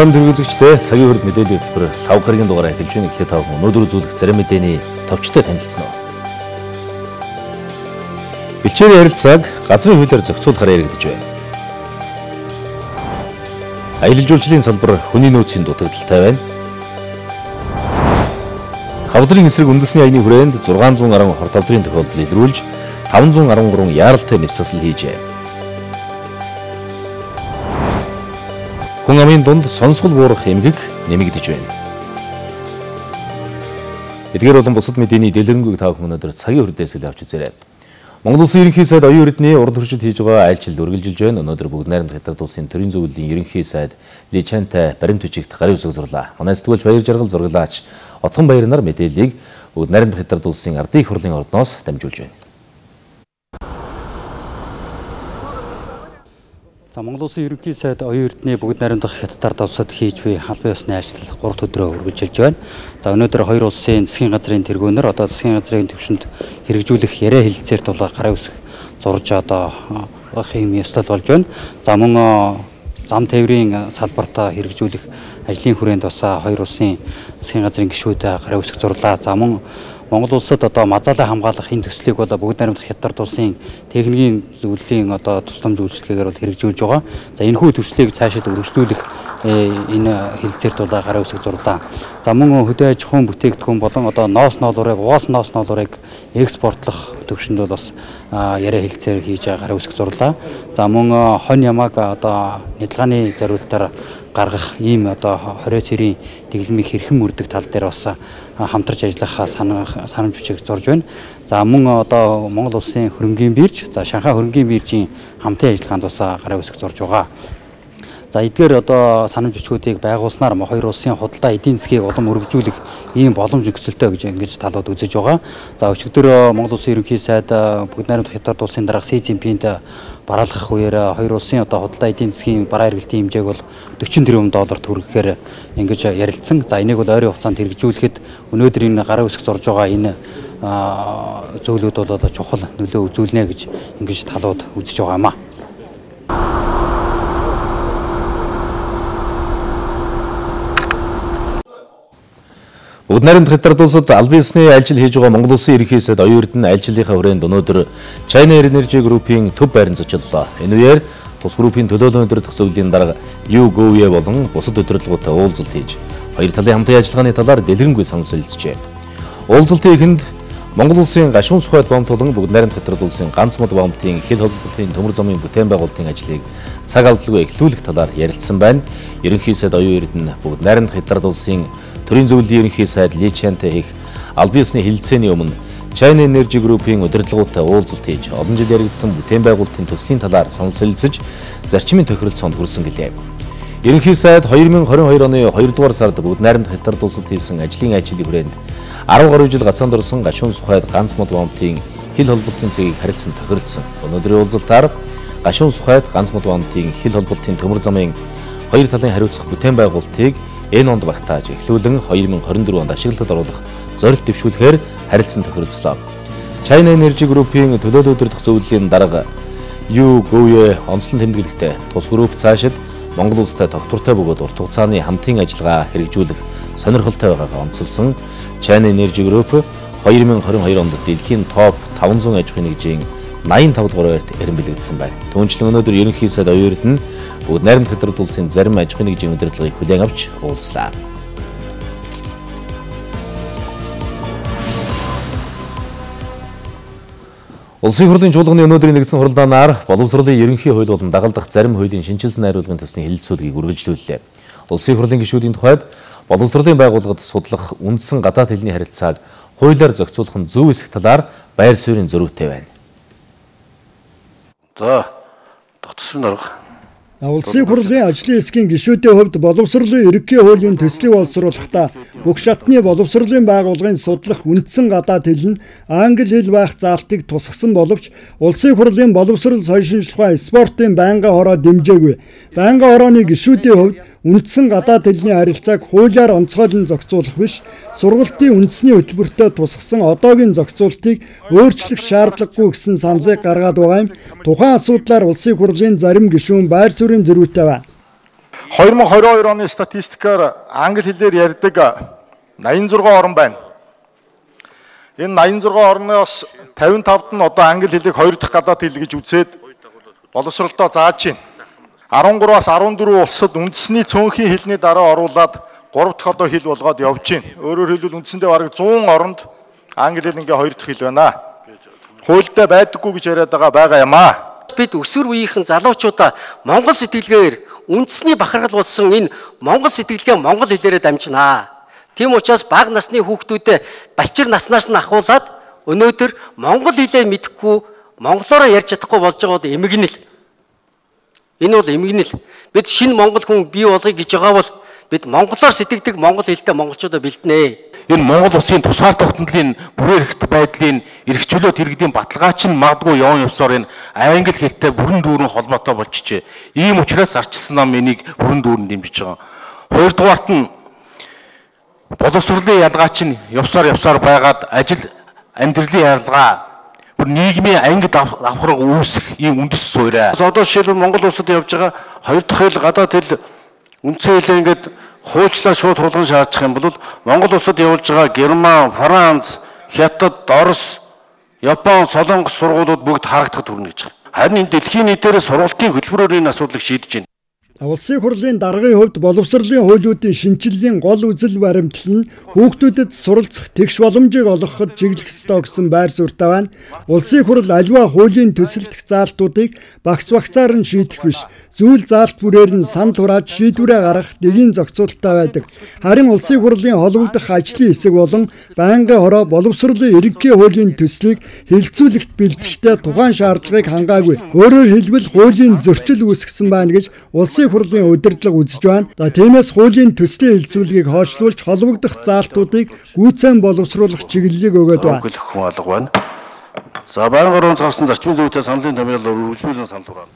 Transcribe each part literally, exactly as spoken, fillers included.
Уран төрөлцөгчтэй цагийн хурд мэдээллийн хөтөлбөр лав гарагийн дугаараа эхэлж байна. Эхлээд тав өнөөдөр үзүүлэх зарим мэдээний товчтой танилцсан уу. Бэлчээрийн харилцааг газрын хуулиар зохицуулахаар яригдж байна. Аялал жуулчлалын салбар хүний нөөцийн дутагдaltaй байна. Хавдрын эсрэг үндэсний аяны хүрээнд зургаан зуун арван хортовдрын тохиолдол илрүүлж таван зуун арван гурван яаралтай мэс засал хийжээ. Хүн амын дунд сонсгол буурах эмгэг нэмэгдэж байна. Эдгээр болон бусад мэдээний дэлгэрэнгүй та бүхэн өнөөдөр цагийн хүрдээс үл авч үзээрэй. Монгол Улсын ерөнхий сайд оюун эрдэнэ урд туршид хийж байгаа айлчилд үргэлжилж байна. Өнөөдөр бүгд найрамд хятад улсын төрийн зөвлөлийн ерөнхий сайд Ли Чантай баримт бичигт гарын үсэг зурлаа. Манай сэтгүүлч Баяр Жаргал зурглаач Отгон Баяр нар мэдээллийг бүгд найрамд хятад улсын ардын их хурлын ордноос дамжуулж байна. За Монгол Улсын ерөнхий сайд оюун эрдэнэ бүгд найрамдах хятадаар давсад хийж буй албан ёсны ажил гурав өдрөө үргэлжилж байна. За өнөөдөр хоёр улсын засгийн газрын тэргүүнээр одоо засгийн газрын төвшөнд хэрэгжүүлэх яриа хэлэлцээр тулаа гарын үсэг зурж одоо хэм ёстол болж байна. За мөн зам тээврийн салбартаа хэрэгжүүлэх ажлын хүрээнд бас хоёр улсын засгийн газрын гишүүд гарын үсэг зурлаа. За мөн Монгол улсад одоо мазаалаа хамгаалах энэ төслийг бол бүгд найрамдах хятад улсын техникийн зөвлөлийн одоо тусламж үйлчлэгээр бол хэрэгжүүлж байгаа. За энэ хүү төслийг цаашид өргөжлүүлэх энэ хэлэлцээр тулаа гарын үсэг зурлаа. За мөн хөдөө аж ахуйн бүтээгдэхүүн болон одоо ноос ноолуурыг угаас ноос ноолуурыг экспортлох төвшөнд бол бас яриа хэлэлцээр хийж гарын үсэг зурлаа. За мөн хонь ямааг одоо нядалгааны зориултаар гаргах ийм одоо хорио цэрийн дэглэмийг хэрхэн мөрдөг тал дээр бас хамтарч ажиллах санамж бичиг зурж байна. За мөн одоо Монгол улсын хөрөнгийн бирж, за Шанхай хөрөнгийн биржийн хамтын ажиллагаанд бас гарын үсэг зурж байгаа. За эдгээр одоо санамж бичгүүдийг байгуулснаар хоёр улсын худалдаа эдийн засгийг улам өргөжүүлэх ийм боломж нөхцөлтэй гэж ингэж талууд үзэж байгаа. За өчигдөр Монгол Улсын ерөнхий сайд бүгд найрамдах хятад улсын дарга Си Цзиньпинт бараалгах үеэр хоёр улсын одоо худалдаа эдийн засгийн бараа эргэлтийн хэмжээг бол дөрвөн тэрбум долларт хүргэхээр ингэж ярилцсан. За энийг бол ойрын хугацаанд хэрэгжүүлэхэд өнөөдөр энэ гарын үсэг зурж байгаа энэ зөвлөд бол одоо чухал нөлөө үзүүлнэ гэж ингэж талууд үзэж байгаа юм а. Бүгд найрамдах хятад улсад албан ёсны айлчил хийж байгаа Монгол Улсын ерөнхий сайд оюун эрдэнэ айлчлалынхаа хүрээнд өнөөдөр China Energy Group-ийн төв байранд зочлоо. Энэ үеэр тус группийн төлөөлөл өдөртөх зөвлөлийн дарга Ю Гоуе болон бусад удирдлагуудтай уулзалт хийж хоёр талын хамтын ажиллагааны талаар дэлгэрэнгүй санал солилцжээ. Уулзалтын эхэнд Монгол Улсын гашуун сухайд бомт болон бүгд найрамдах хятад улсын ганц мод бомтын хил холбооны төмөр замын бүтээн байгуулалтын ажлыг цаг алдалгүй эхлүүлэх талаар ярилцсан байна. Ерөнхий сайд оюун эрдэнэ бүгд найрамдах хятад улсын төрийн зөвлөлийн ерөнхий сайд Ли Чантай их албан ёсны хэлэлцээний өмнө China Energy Group-ийн удирдлагуудтай уулзалт хийж олон жил яригдсан бүтээн байгуулалтын төслийн талаар санал солилцож зарчмын тохиролцоонд хүрсэн гэлээ. Ерөнхий сайд хоёр мың хорин хоёр оны хоёрдугаар сард бүгд найрамдах хятад улсад хийсэн ажлын айлчилын хүрээнд арав гаруй жил гацаанд орсон гашуун сухайд ганц мод бомтын хил холболтын цэгийг харилцан тохиролцсон. Өнөөдрийн уулзалтаар гашуун сухайд ганц мод бомтын хил холболтын төмөр замын хоёр талын хариуцах бүтээн байгуулалтыг энэ онд багтааж эхлүүлэн хоёр мың хорин дөрөв онд ашиглалтад оруулах зорилт дэвшүүлэхээр харилцан тохиролцлоо. China Energy Group-ийн төлөөлөл өдөртөх зөвлөлийн дарга Ю Гоуе онцлон тэмдэглэхдээ тус групп цаашид Монгол улстай тогтвортой бөгөөд урт хугацааны хамтын ажиллагаа хэрэгжүүлэх сонирхолтой байгаагаа онцолсон. China Energy Group хоёр мың хорин хоёр онд дэлхийн топ таван зуун аж ахуйн нэгжийн найман тав дугаар байрт эренбэлэгдсэн байна. Түүнчлэн өнөөдөр ерөнхий сайд оюун эрдэнэ бүгд найрамдах хятад улсын зарим аж ахуйн нэгжийн удирдлагыг хүлээн авч уулзлаа. Улсын хурлын чуулганы өнөөдрийн нэгдсэн хурлаанаар боловсролын ерөнхий хууль болон дагалдах зарим хуулийн шинжилсэн найруулгын төслийн хэлэлцүүлгийг үргэлжлүүллээ. Улсын хурлын гишүүдийн тухайд боловсролын байгууллагад судлах үндсэн гадаад хэлний харилцааг хуулиар зохицуулах нь зөв эсэх талаар байр суурийн зөрүүтэй байна. За, дотор нарга. Улсын хурлын ажлын хэсгийн гишүүдийн хувьд боловсролын ерөнхий хуулийн төслийг боловсруулахдаа бүх шатны боловсролын байгууллагын судлах үндсэн гадаад хэл нь англи хэл байх заалтыг тусгасан боловч улсын хурлын боловсрол соёлын шинжилгээ спортын байнгын хороо дэмжээгүй. Байнгын хорооны гишүүдийн хувьд үндсэн гадаад хэлний харилцааг хуулиар онцгойлон зохицуулах биш, сургалтын үндэсний хөтөлбөртөө тусгасан одоогийн зохицуултыг өөрчлөх шаардлагагүй гэсэн саналыг гаргаад байгаа юм. Тухайн асуудлаар улсын хурлын зарим гишүүн байр суурийн зөрүүтэй байна. хоёр мың двадцать хоёр оны статистикаар англи хэлээр ярьдаг восемьдесят шесть орн байна. Энэ восемьдесят шесть орноос пятьдесят пять нь одоо англи хэлийг хоёр дахь гадаад хэл гэж үзээд боловсролдоо зааж байна.13-аас дөрвөн улсад үндэсний цөөнхийн хэлний дараа оруулаад гурав дахь одоо хэл болгоод явж байна. Өөрөөр хэлбэл үндсэндээ бараг сто оронд англи хэл ингээ хоёр дахь хэл байна. Хуультай байдаггүй гэж яриад байгаа байгаа юм аа. Бид өсвөр үеийнхэн залуучуудаа монгол сэтгэлгээр үндэсний бахархал болсон энэ монгол сэтгэлгээ монгол хэлээрээ дамжинаа. Тийм учраас бага насны хүүхдүүдэд балчир наснаас нь ахуулаад өнөөдөр монгол хэлээ мэдэхгүй монголоор ярьж чадахгүй болж байгаа бол эмгэнэл. Энэ бол эмгэнэл. Бид шинэ монгол хүн бий болгоё гэж байгаа бол бид монголоор сэтгэдэг монгол хэлтэй монголчуудаа бэлднэ. Энэ Монгол улсын тусгаар тогтнолын бүрээр эрхт байдлын эрхчлөлт иргэдийн баталгаач нь магадгүй явн явсаар энэ англи хэлтэй бүрэн дүүрэн холбоотой болчихжээ. Ийм учраас арчилсан нам энийг бүрэн дүүрэн дэмжиж байгаа. Хоёрдугаарт нь боловсролын ялгаач нь явсаар явсаар байгаад ажил амьдралын ялгаа бүр нийгмийн ангид авахраг үүсэх ийм үндэс суурь. Одоо жишээлбэл Монгол улсад явж байгаа хоёр дахь хэл гадаад хэл үндсэн хэлээ ингээд хуульчлаа шууд хулган шаардчих юм бол Монгол улсад явуулж байгаа Герман, Франц, Хятад, Орос, Япон, Солонгос сургуулиуд бүгд харагдахад хүрнэ гэж байна. Харин энэ дэлхийн нийтээр сургалтын хөтөлбөрөөр энэ асуудлыг шийдэж байна. Улсын хурлын даргын хувьд боловсролын хуулиудын шинжилгээний гол үзэл баримтлал нь хүүхдүүдэд суралцах тэгш боломжийг олгоход чиглэх ёстой гэсэн байр суурьтай байна. Улсын хурл аливаа хуулийн төсөлдөх заалтуудыг багц багцаар нь шийдэх биш, зүйл заалт бүрээр нь сан турааж шийдвэрээ гаргах дэгийн зохицуулалттай байдаг. Харин улсын хурлын холбогдох ажлын хэсэг болон байнгын хороо боловсролын ерөнхий хуулийн төслийг хэлэлцүүлэхт бэлтгэхдээ тухайн шаардлагыг хангаагүй. Өөрөөр хэлбэл хуулийн зөрчил үүсгэсэн байна гэж улсын хурлын удирдлага үзэж байна. За тиймээс хуулийн төслийн хэлэлцүүлгийг хойшлуулж холбогдох заалтуудыг гүйцээн боловсруулах чиглэлийг өгөөд байна. Хүн алга байна. За байнгын орон гарсан зарчмын зүйтэй саналын томьёолоор үргэлжлүүлэн санал хураана.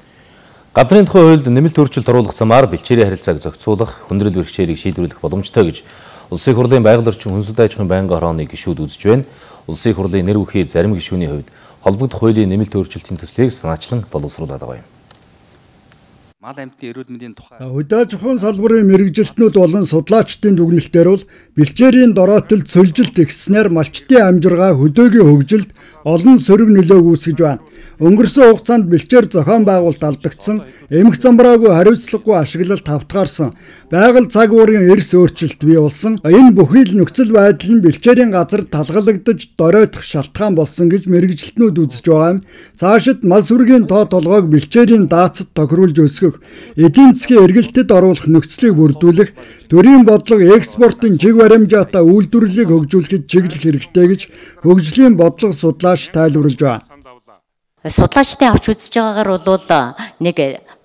Газрын тухай хуульд нэмэлт өөрчлөлт оруулах замаар бэлчээрийн харилцааг зохицуулах, хүндрэл бэрхшээлийг шийдвэрлэх боломжтой гэж Улсын хурлын байгаль орчин хүнсүд аж ахуйн байнгын хорооны гишүүд үзэж байна. Улсын хурлын нэр бүхий зарим гишүүний хувьд холбогдох хуулийн нэмэлт өөрчлөлтийн төслийг санаачлан боловсруулад байгаа юм. Мал амьтны эрүүл мэндийн тухай Хөдөө аж ахуйн салбарын мэрэгжилтнүүд болон судлаачдын дүгнэлтээр бол бэлчээрийн дороотолд сөлжилт ихснээр малчтын амжиргаа хөдөөгийн хөгжилд олон сөрөг нөлөөг үүсгэж байна. Өнгөрсөн хугацаанд бэлчээр зохион байгуулалт алдагдсан, эмх замбраагүй хариуцлагагүй ашиглалт тавтгаарсан, байгаль цаг уурын эрс өөрчлөлт бий болсон. Энэ бүхий л нөхцөл байдал нь бэлчээрийн газар талгалагдаж доройтох шалтгаан болсон гэж мэрэгжилтнүүд үзэж байгаа юм. Цаашид мал сүргийн тоо толгойг бэлчээрийн даацад тохируулж өсгөх, эдийн засгийн эргэлтэд оруулах нөхцөлийг бүрдүүлэх, төрийн бодлого экспортын чиг баримжаатай үйлдвэрлэлийг хөгжүүлэхэд чиглэх хэрэгтэй гэж хөгжлийн бодлого судлаач тайлбарлаж байна. Судлаачдын авч үзэж байгаагаар бол нэг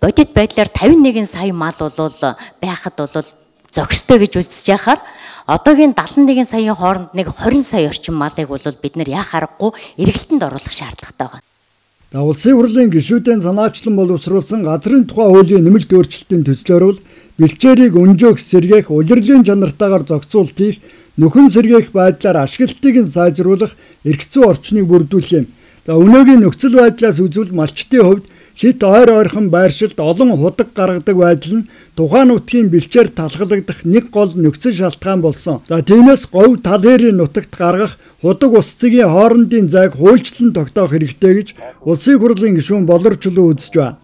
бодит байдлаар тавин нэгэн сая мал бол байхад бол зохистой гэж үзэж яхаар одоогийн далайн нэгэн саяын хооронд нэг хорин сая орчим малыг бол бид нэр яах аргагүй эргэлтэнд оруулах шаардлагатай байна. Улсын хурлын гишүүдийн санаачлан боловсруулсан газрын тухай хуулийн нэмэлт өөрчлөлтийн төслөөр бол бэлчээрийг өнжөөх, сэргээх, улирлын чанартаагаар зохицуулт хийх, нөхөн сэргээх байдлаар ашиглалтыг нь сайжруулах эрх зүйн орчныг бүрдүүлэх юм. За өнөөгийн нөхцөл байдлаас үзвэл малчтын хувьд хит ойр ойрхон байршилд олон худаг гаргадаг байдал нь тухайн нутгийн бэлчээр талхалагдах нэг гол нөхцөл шалтгаан болсон. За тиймээс говь тал хэрийн нутагт гаргах худаг ус цэгийн хоорондын зайг хуульчлан тогтоох хэрэгтэй гэж Улсын хурлын гишүүн Болорчлуу үзэж байна.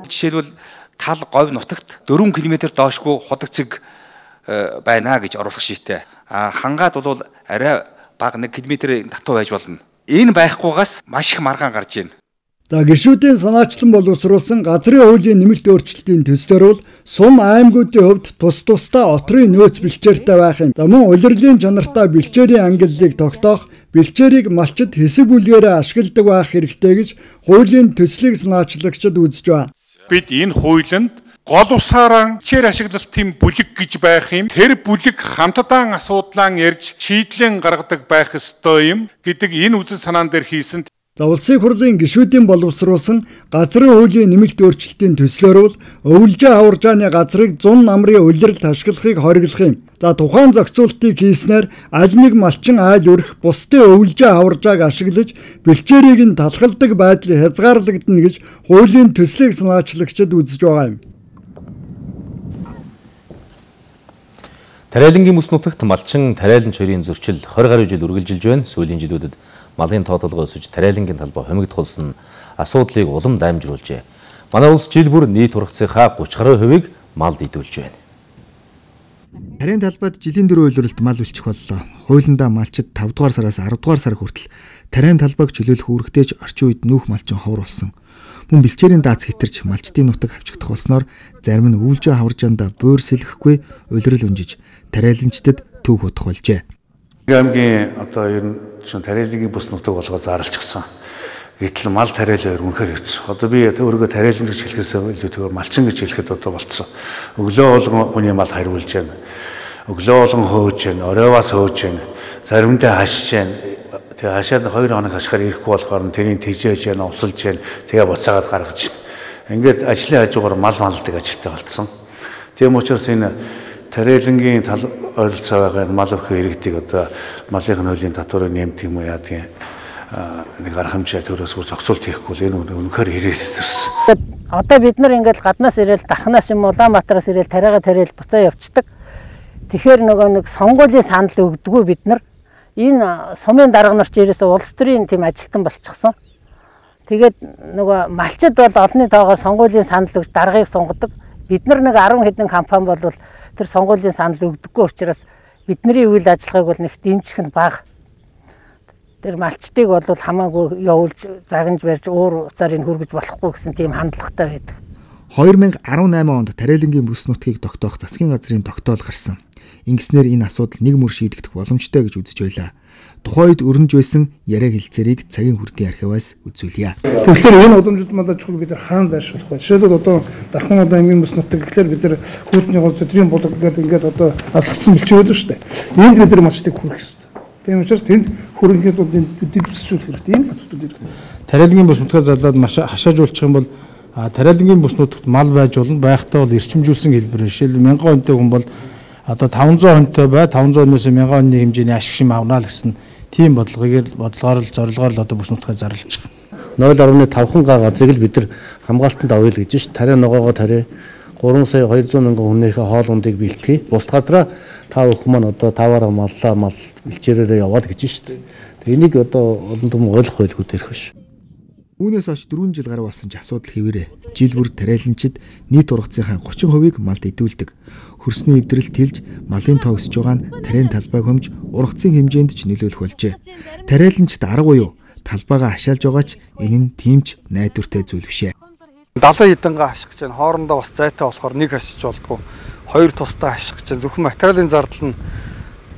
жишээлбэл тал говь нутагт дөрвөн километр доошгүй худаг цэг байна гэж оруулах шийдтэй. А хангаад бол арай бага нэг километрийн татуу байж болно. Энэ байхгүйгаас маш их маргаан гарч ийн. За гишүүдийн санаачлан боловсруулсан газрын хуулийн нэмэлт өөрчлөлтийн төслөөр бол сум аймагуудын хувьд тус тусдаа отрын нөөц бэлчээртэй байх юм. За мөн улирлын чанартай бэлчээрийн ангиллыг тогтоох, бэлчээрийг малчид хэсэг бүлгээрээ ашигладаг байх хэрэгтэй гэж хуулийн төслийг санаачлагчид үзэж байна. Бид энэ хуулинд гол усаараа бэлчээр ашиглалтын бүлэг гэж байх юм. Тэр бүлэг хамтдаан асуудлаа ярьж шийдлэн гаргадаг байх ёстой юм гэдэг энэ үзэл санаан дээр хийсэн. За улсын хурлын гишүүдийн боловсруулсан газрын хуулийн нэмэлт өөрчлөлтийн төслөөр бол өвлжээ аваржааны газрыг зун намрын улиралд ашиглахыг хориглох юм. За тухайн зохицуултыг хийснээр аль нэг малчин айл өрх бусдын өвлжээ аваржааг ашиглаж бэлчээрийг нь талхалдаг байдал хязгаарлагдана гэж хуулийн төслийг санаачлагчид үзэж байгаа юм. Тариалангийн бүс нутагт малчин тариаланч хоёрын зөрчил двадцать гаруй жил үргэлжилж байна. Сүүлийн жилүүдэд малын тоотолгоо өсөж тариалангийн талбай хомигдхулсан асуудлыг улам даймжруулжээ. Манай улс жил бүр нийт ургацынхаа тридцать гаруй хувийг малд идүүлж байна. Тарийн талбайд жилийн дөрөв үйлрэлт мал үлчих боллоо. Хуулиндаа малчид тавь дугаар сараас арав дугаар сар хүртэл тарийн талбайг чөлөөлөх үүрэгтэйч орчин үед нүүх малчин ховор болсон. Мөн бэлчээрийн дааз хитэрч малчдын нутаг авчигдах болсноор зарим нь үүлжээ хаваржаанда буур сэлгэхгүй улирал унжиж тариаланчдад төв хутах болжээ. Аймгийн одоо ер нь тариалангийн бүс нутаг болгоо заарлчихсан. Гэтэл мал тариал хоёр үнэхээр хэвчээ. Одоо би өөрийгөө тариалан гэж хэлэхээс илүү тэгвэл малчин гэж хэлэхэд одоо болцсон. Өглөө болгон хүний мал хариулж байна. Өглөө болгон хөөж байна. Оройвоос хөөж байна. Заримдаа хашиж байна. Тэгээ хашаад хоёр хоног хашихаар ирэхгүй болохоор тэрийг тэгжээж байна, усалж байна. Тэгээ буцаагаад гаргаж байна. Ингээд ажлын хажуугаар мал малдаг ажилтай болцсон. Тийм учраас энэ тариалангийн тал ойролцоо байгаа мал өхөө иргэдийг одоо малын хуулийн татварыг нэмдэг юм уу яа тийм нэг арга хэмжээ төрөөс бүр зохицуулт хийхгүй л энэ үнэхээр хэрэгжсэн. Одоо бид нар ингээд гаднаас ирээл Дарханаас юм Улаанбаатараас ирээл тариага тариал буцаа явцдаг. Тэгэхээр нөгөө нэг сонгуулийн санал өгдөггүй бид нар энэ сумын дарга нар ч ерөөсөө улс төрийн тийм ажилтан болчихсон. Тэгээд нөгөө малчид бол олонний тоогоор сонгуулийн санал өгч даргаыг сунгадаг. Бид нар нэг арван хэдэн компани бол тэр сонгуулийн санал өгдөггүй учраас бидний үйл ажиллагааг бол нэг дэмжих нь бага. Тэр малчдыг бол хамаагүй явуулж загнаж барьж уур уцаар энэ хүргэж болохгүй гэсэн тийм хандлагатай байдаг. две тысячи десять онд тариалангийн бүс нутгийг тогтоох засгийн газрын тогтоол гарсан. Ингэснээр энэ асуудал нэг мөр шийдэгдэх боломжтой гэж үзэж байлаа. Тухайн үед өрнөж байсан яриа хэлцээрийг цагийн хүрдийн архиваас үзүүлье. Тэгэхээр энэ удамжид малажхыг бид нар хаана байршуулах вэ? Жишээлбэл одоо Дархан одоо аймгийн бүс нутаг гэхлээр бид нар хүүтний гол зөвдрийн болог гэдэг ингээд одоо алсгсан бэлчээд байна шүү дээ. Энд бид нар малчдыг хүргэх хэрэгтэй. Тийм учраас тэнд хөрөнгөд бид төсчүүлэх хэрэгтэй. Энэ асуудал ирэх. Тариалангийн бүс нутгаа залаад маш хашаажуулчих юм бол тариалангийн бүс нутагт мал байж болно. Байхдаа бол эрчимжүүлсэн хэлбэр. Жишээлбэл мянган хүнтэй хүн бол одоо таван зуун хүнтэй бай таван зуунаас мянган хүнний хэмжээний ашиг шим авнаа л гэсэн тийм бодлогыг бодлогоор л зорилгоор л одоо бүс нутгаа зарлж байгаа. ноль орчим тавхан га газрыг л бид нар хамгаалтанд авъя л гэж ш. Тариа ногоогоо тариа гурван сая двести мянган хүнийхээ хоол ундыг бэлтгэе. Бус газраа та бүхэн маань одоо таваараа маллаа мал бэлчээрээрээ яваад гэж ш. Энийг одоо олон том ойлгох байлгүй тэрх биш. Үүнээс хойш дөрвөн жил гаруй болсон ч асуудал хэвээрээ. Жил бүр тариаланчид нийт ургацынхаа тридцать хувийг малд идүүлдэг. Хөрсний эвдрэл тэлж малын тоо өсөж байгаа нь тарийн талбайг хөмж ургацын хэмжээнд ч нөлөөлөх болжээ. Тариаланчид арга буюу талбайгаа хашаалж байгаа ч энэ нь тимч найдвартай зүйл бишээ. Далайн хідэнгээ хаших гэж хоорондоо бас зайтай болохоор нэг хашиж болдгоо. Хоёр тусдаа хаших гэж зөвхөн материалын зардал нь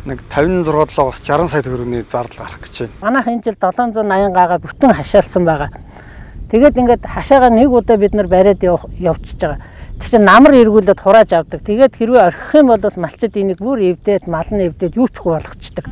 нэг пятьдесят шесть шестьдесят сая төгрөгийн зардал гарах гэж байна. Манайх энэ жил долоон зуун восемьдесят гаага бүтэн хашаалсан байгаа. Тэгээд ингээд хашаага нэг удаа бид нар бариад явчихж байгаа. Тэг чи намар эргүүлээд хурааж авдаг. Тэгээд хэрвээ орхих юм бол малчид энийг бүр эвдээд мал нь эвдээд юу ч болгочдөг.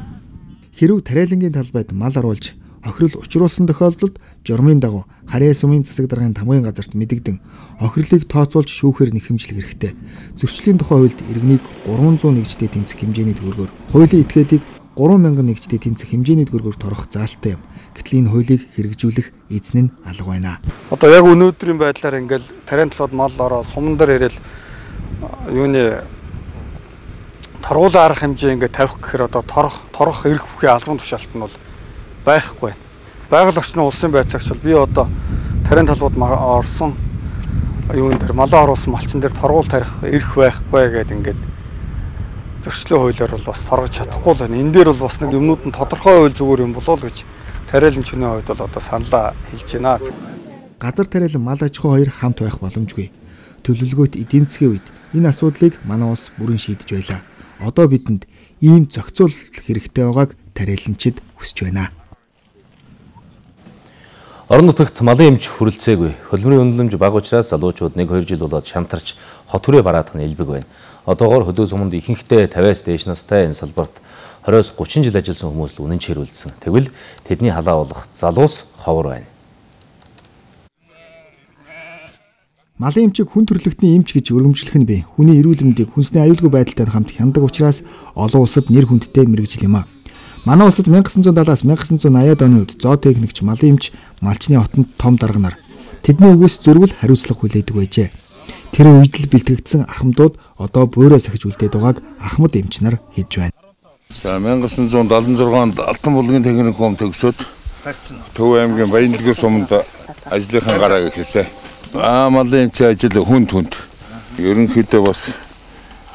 Хэрв тариалангийн талбайд мал оруулж охирол учруулсан тохиолдолд журмын дагуу харьяа сумын засаг даргын тамгын газарт мэдэгдэн охирлыг тооцоолж шүүхээр нэхэмжлэх хэрэгтэй. Зөрчлийн тухай хуульд иргэнийг гурван зуун нэгжтэй тэнцэх хэмжээний төгрөгөөр, хуулийн этгээдийг гурван мянган нэгжтэй тэнцэх хэмжээний төгрөгөөр торох заалттай юм. Гэтэл энэ хуулийг хэрэгжүүлэх эзэн нь алга байна. Одоо яг өнөөдрийн байдлаар ингээл тарийн талбайд мал ороо суман дээр ирээл юуны торгуулийн арга хэмжээ ингээд тавих гэхээр одоо торох торох эрх бүхий албан тушаалт нь бол байхгүй. Байгаль орчны улсын байцаагч бол би одоо тарийн талбайд орсон юун дээр малаа оруулсан малчин дээр торгуул тарих эрх байхгүй гэдэг ингээд зөрчлийн хуулиар бол бас торгож чадахгүй л байна. Энэ дээр бол бас нэг юмнууд нь тодорхой хууль зүгээр юм болов уу гэж тариаланчны хувьд бол одоо саналаа хэлж байна. Газар тариалан мал аж ахуй хоёр хамт байх боломжгүй. Төлөвлөгөөт эдийн засгийн үед энэ асуудлыг манай улс бүрэн шийдэж байлаа. Одоо бидэнд ийм зохицуулалт хэрэгтэй байгааг тариаланчид хүсэж байна. Орон нутагт малын эмч хүрэлцээгүй. Хөлбөрийн үнэлэмж бага учраас залуучууд нэг хоёр жил болоод шантарч хот хүрээ бараадах нь элбэг байна. Одоогоор хөдөө суманд ихэнхдээ пятьдесят дээш настай энэ салбарт двадцать тридцать жил ажилласан хүмүүс л үнэн чирүүлсэн. Тэгвэл тэдний халаа болох залуус ховор байна. Малын эмчийг хүн төрөлхтний эмч гэж өргөмжлөх нь бий. Хүний эрүүл мэндийг хүнсний аюулгүй байдалтай хамт хяндаг учраас олон улсад нэр хүндтэй мэргэжил юм а. Манай улсад 천구 сая седьмидесятаас 천구 сая восьмидесятые оны үед зоо техникч малын эмч малчны хотод том дарга нар тэдний үгээс зөрвөл хариуцлага хүлээдэг байжээ. Тэр үед л бэлтгэгдсэн ахмадууд одоо буураа сахиж үлдээд байгааг ахмад эмч нар хэлж байна. За мянга девятьсот семьдесят шесть онд Алтан булгийн техникум төгсөөд Төв аймгийн Баянлагын суманд ажлынхаа гараа гэхээсэ аа малын эмч ажил хүнд хүнд. Ерөнхийдөө бас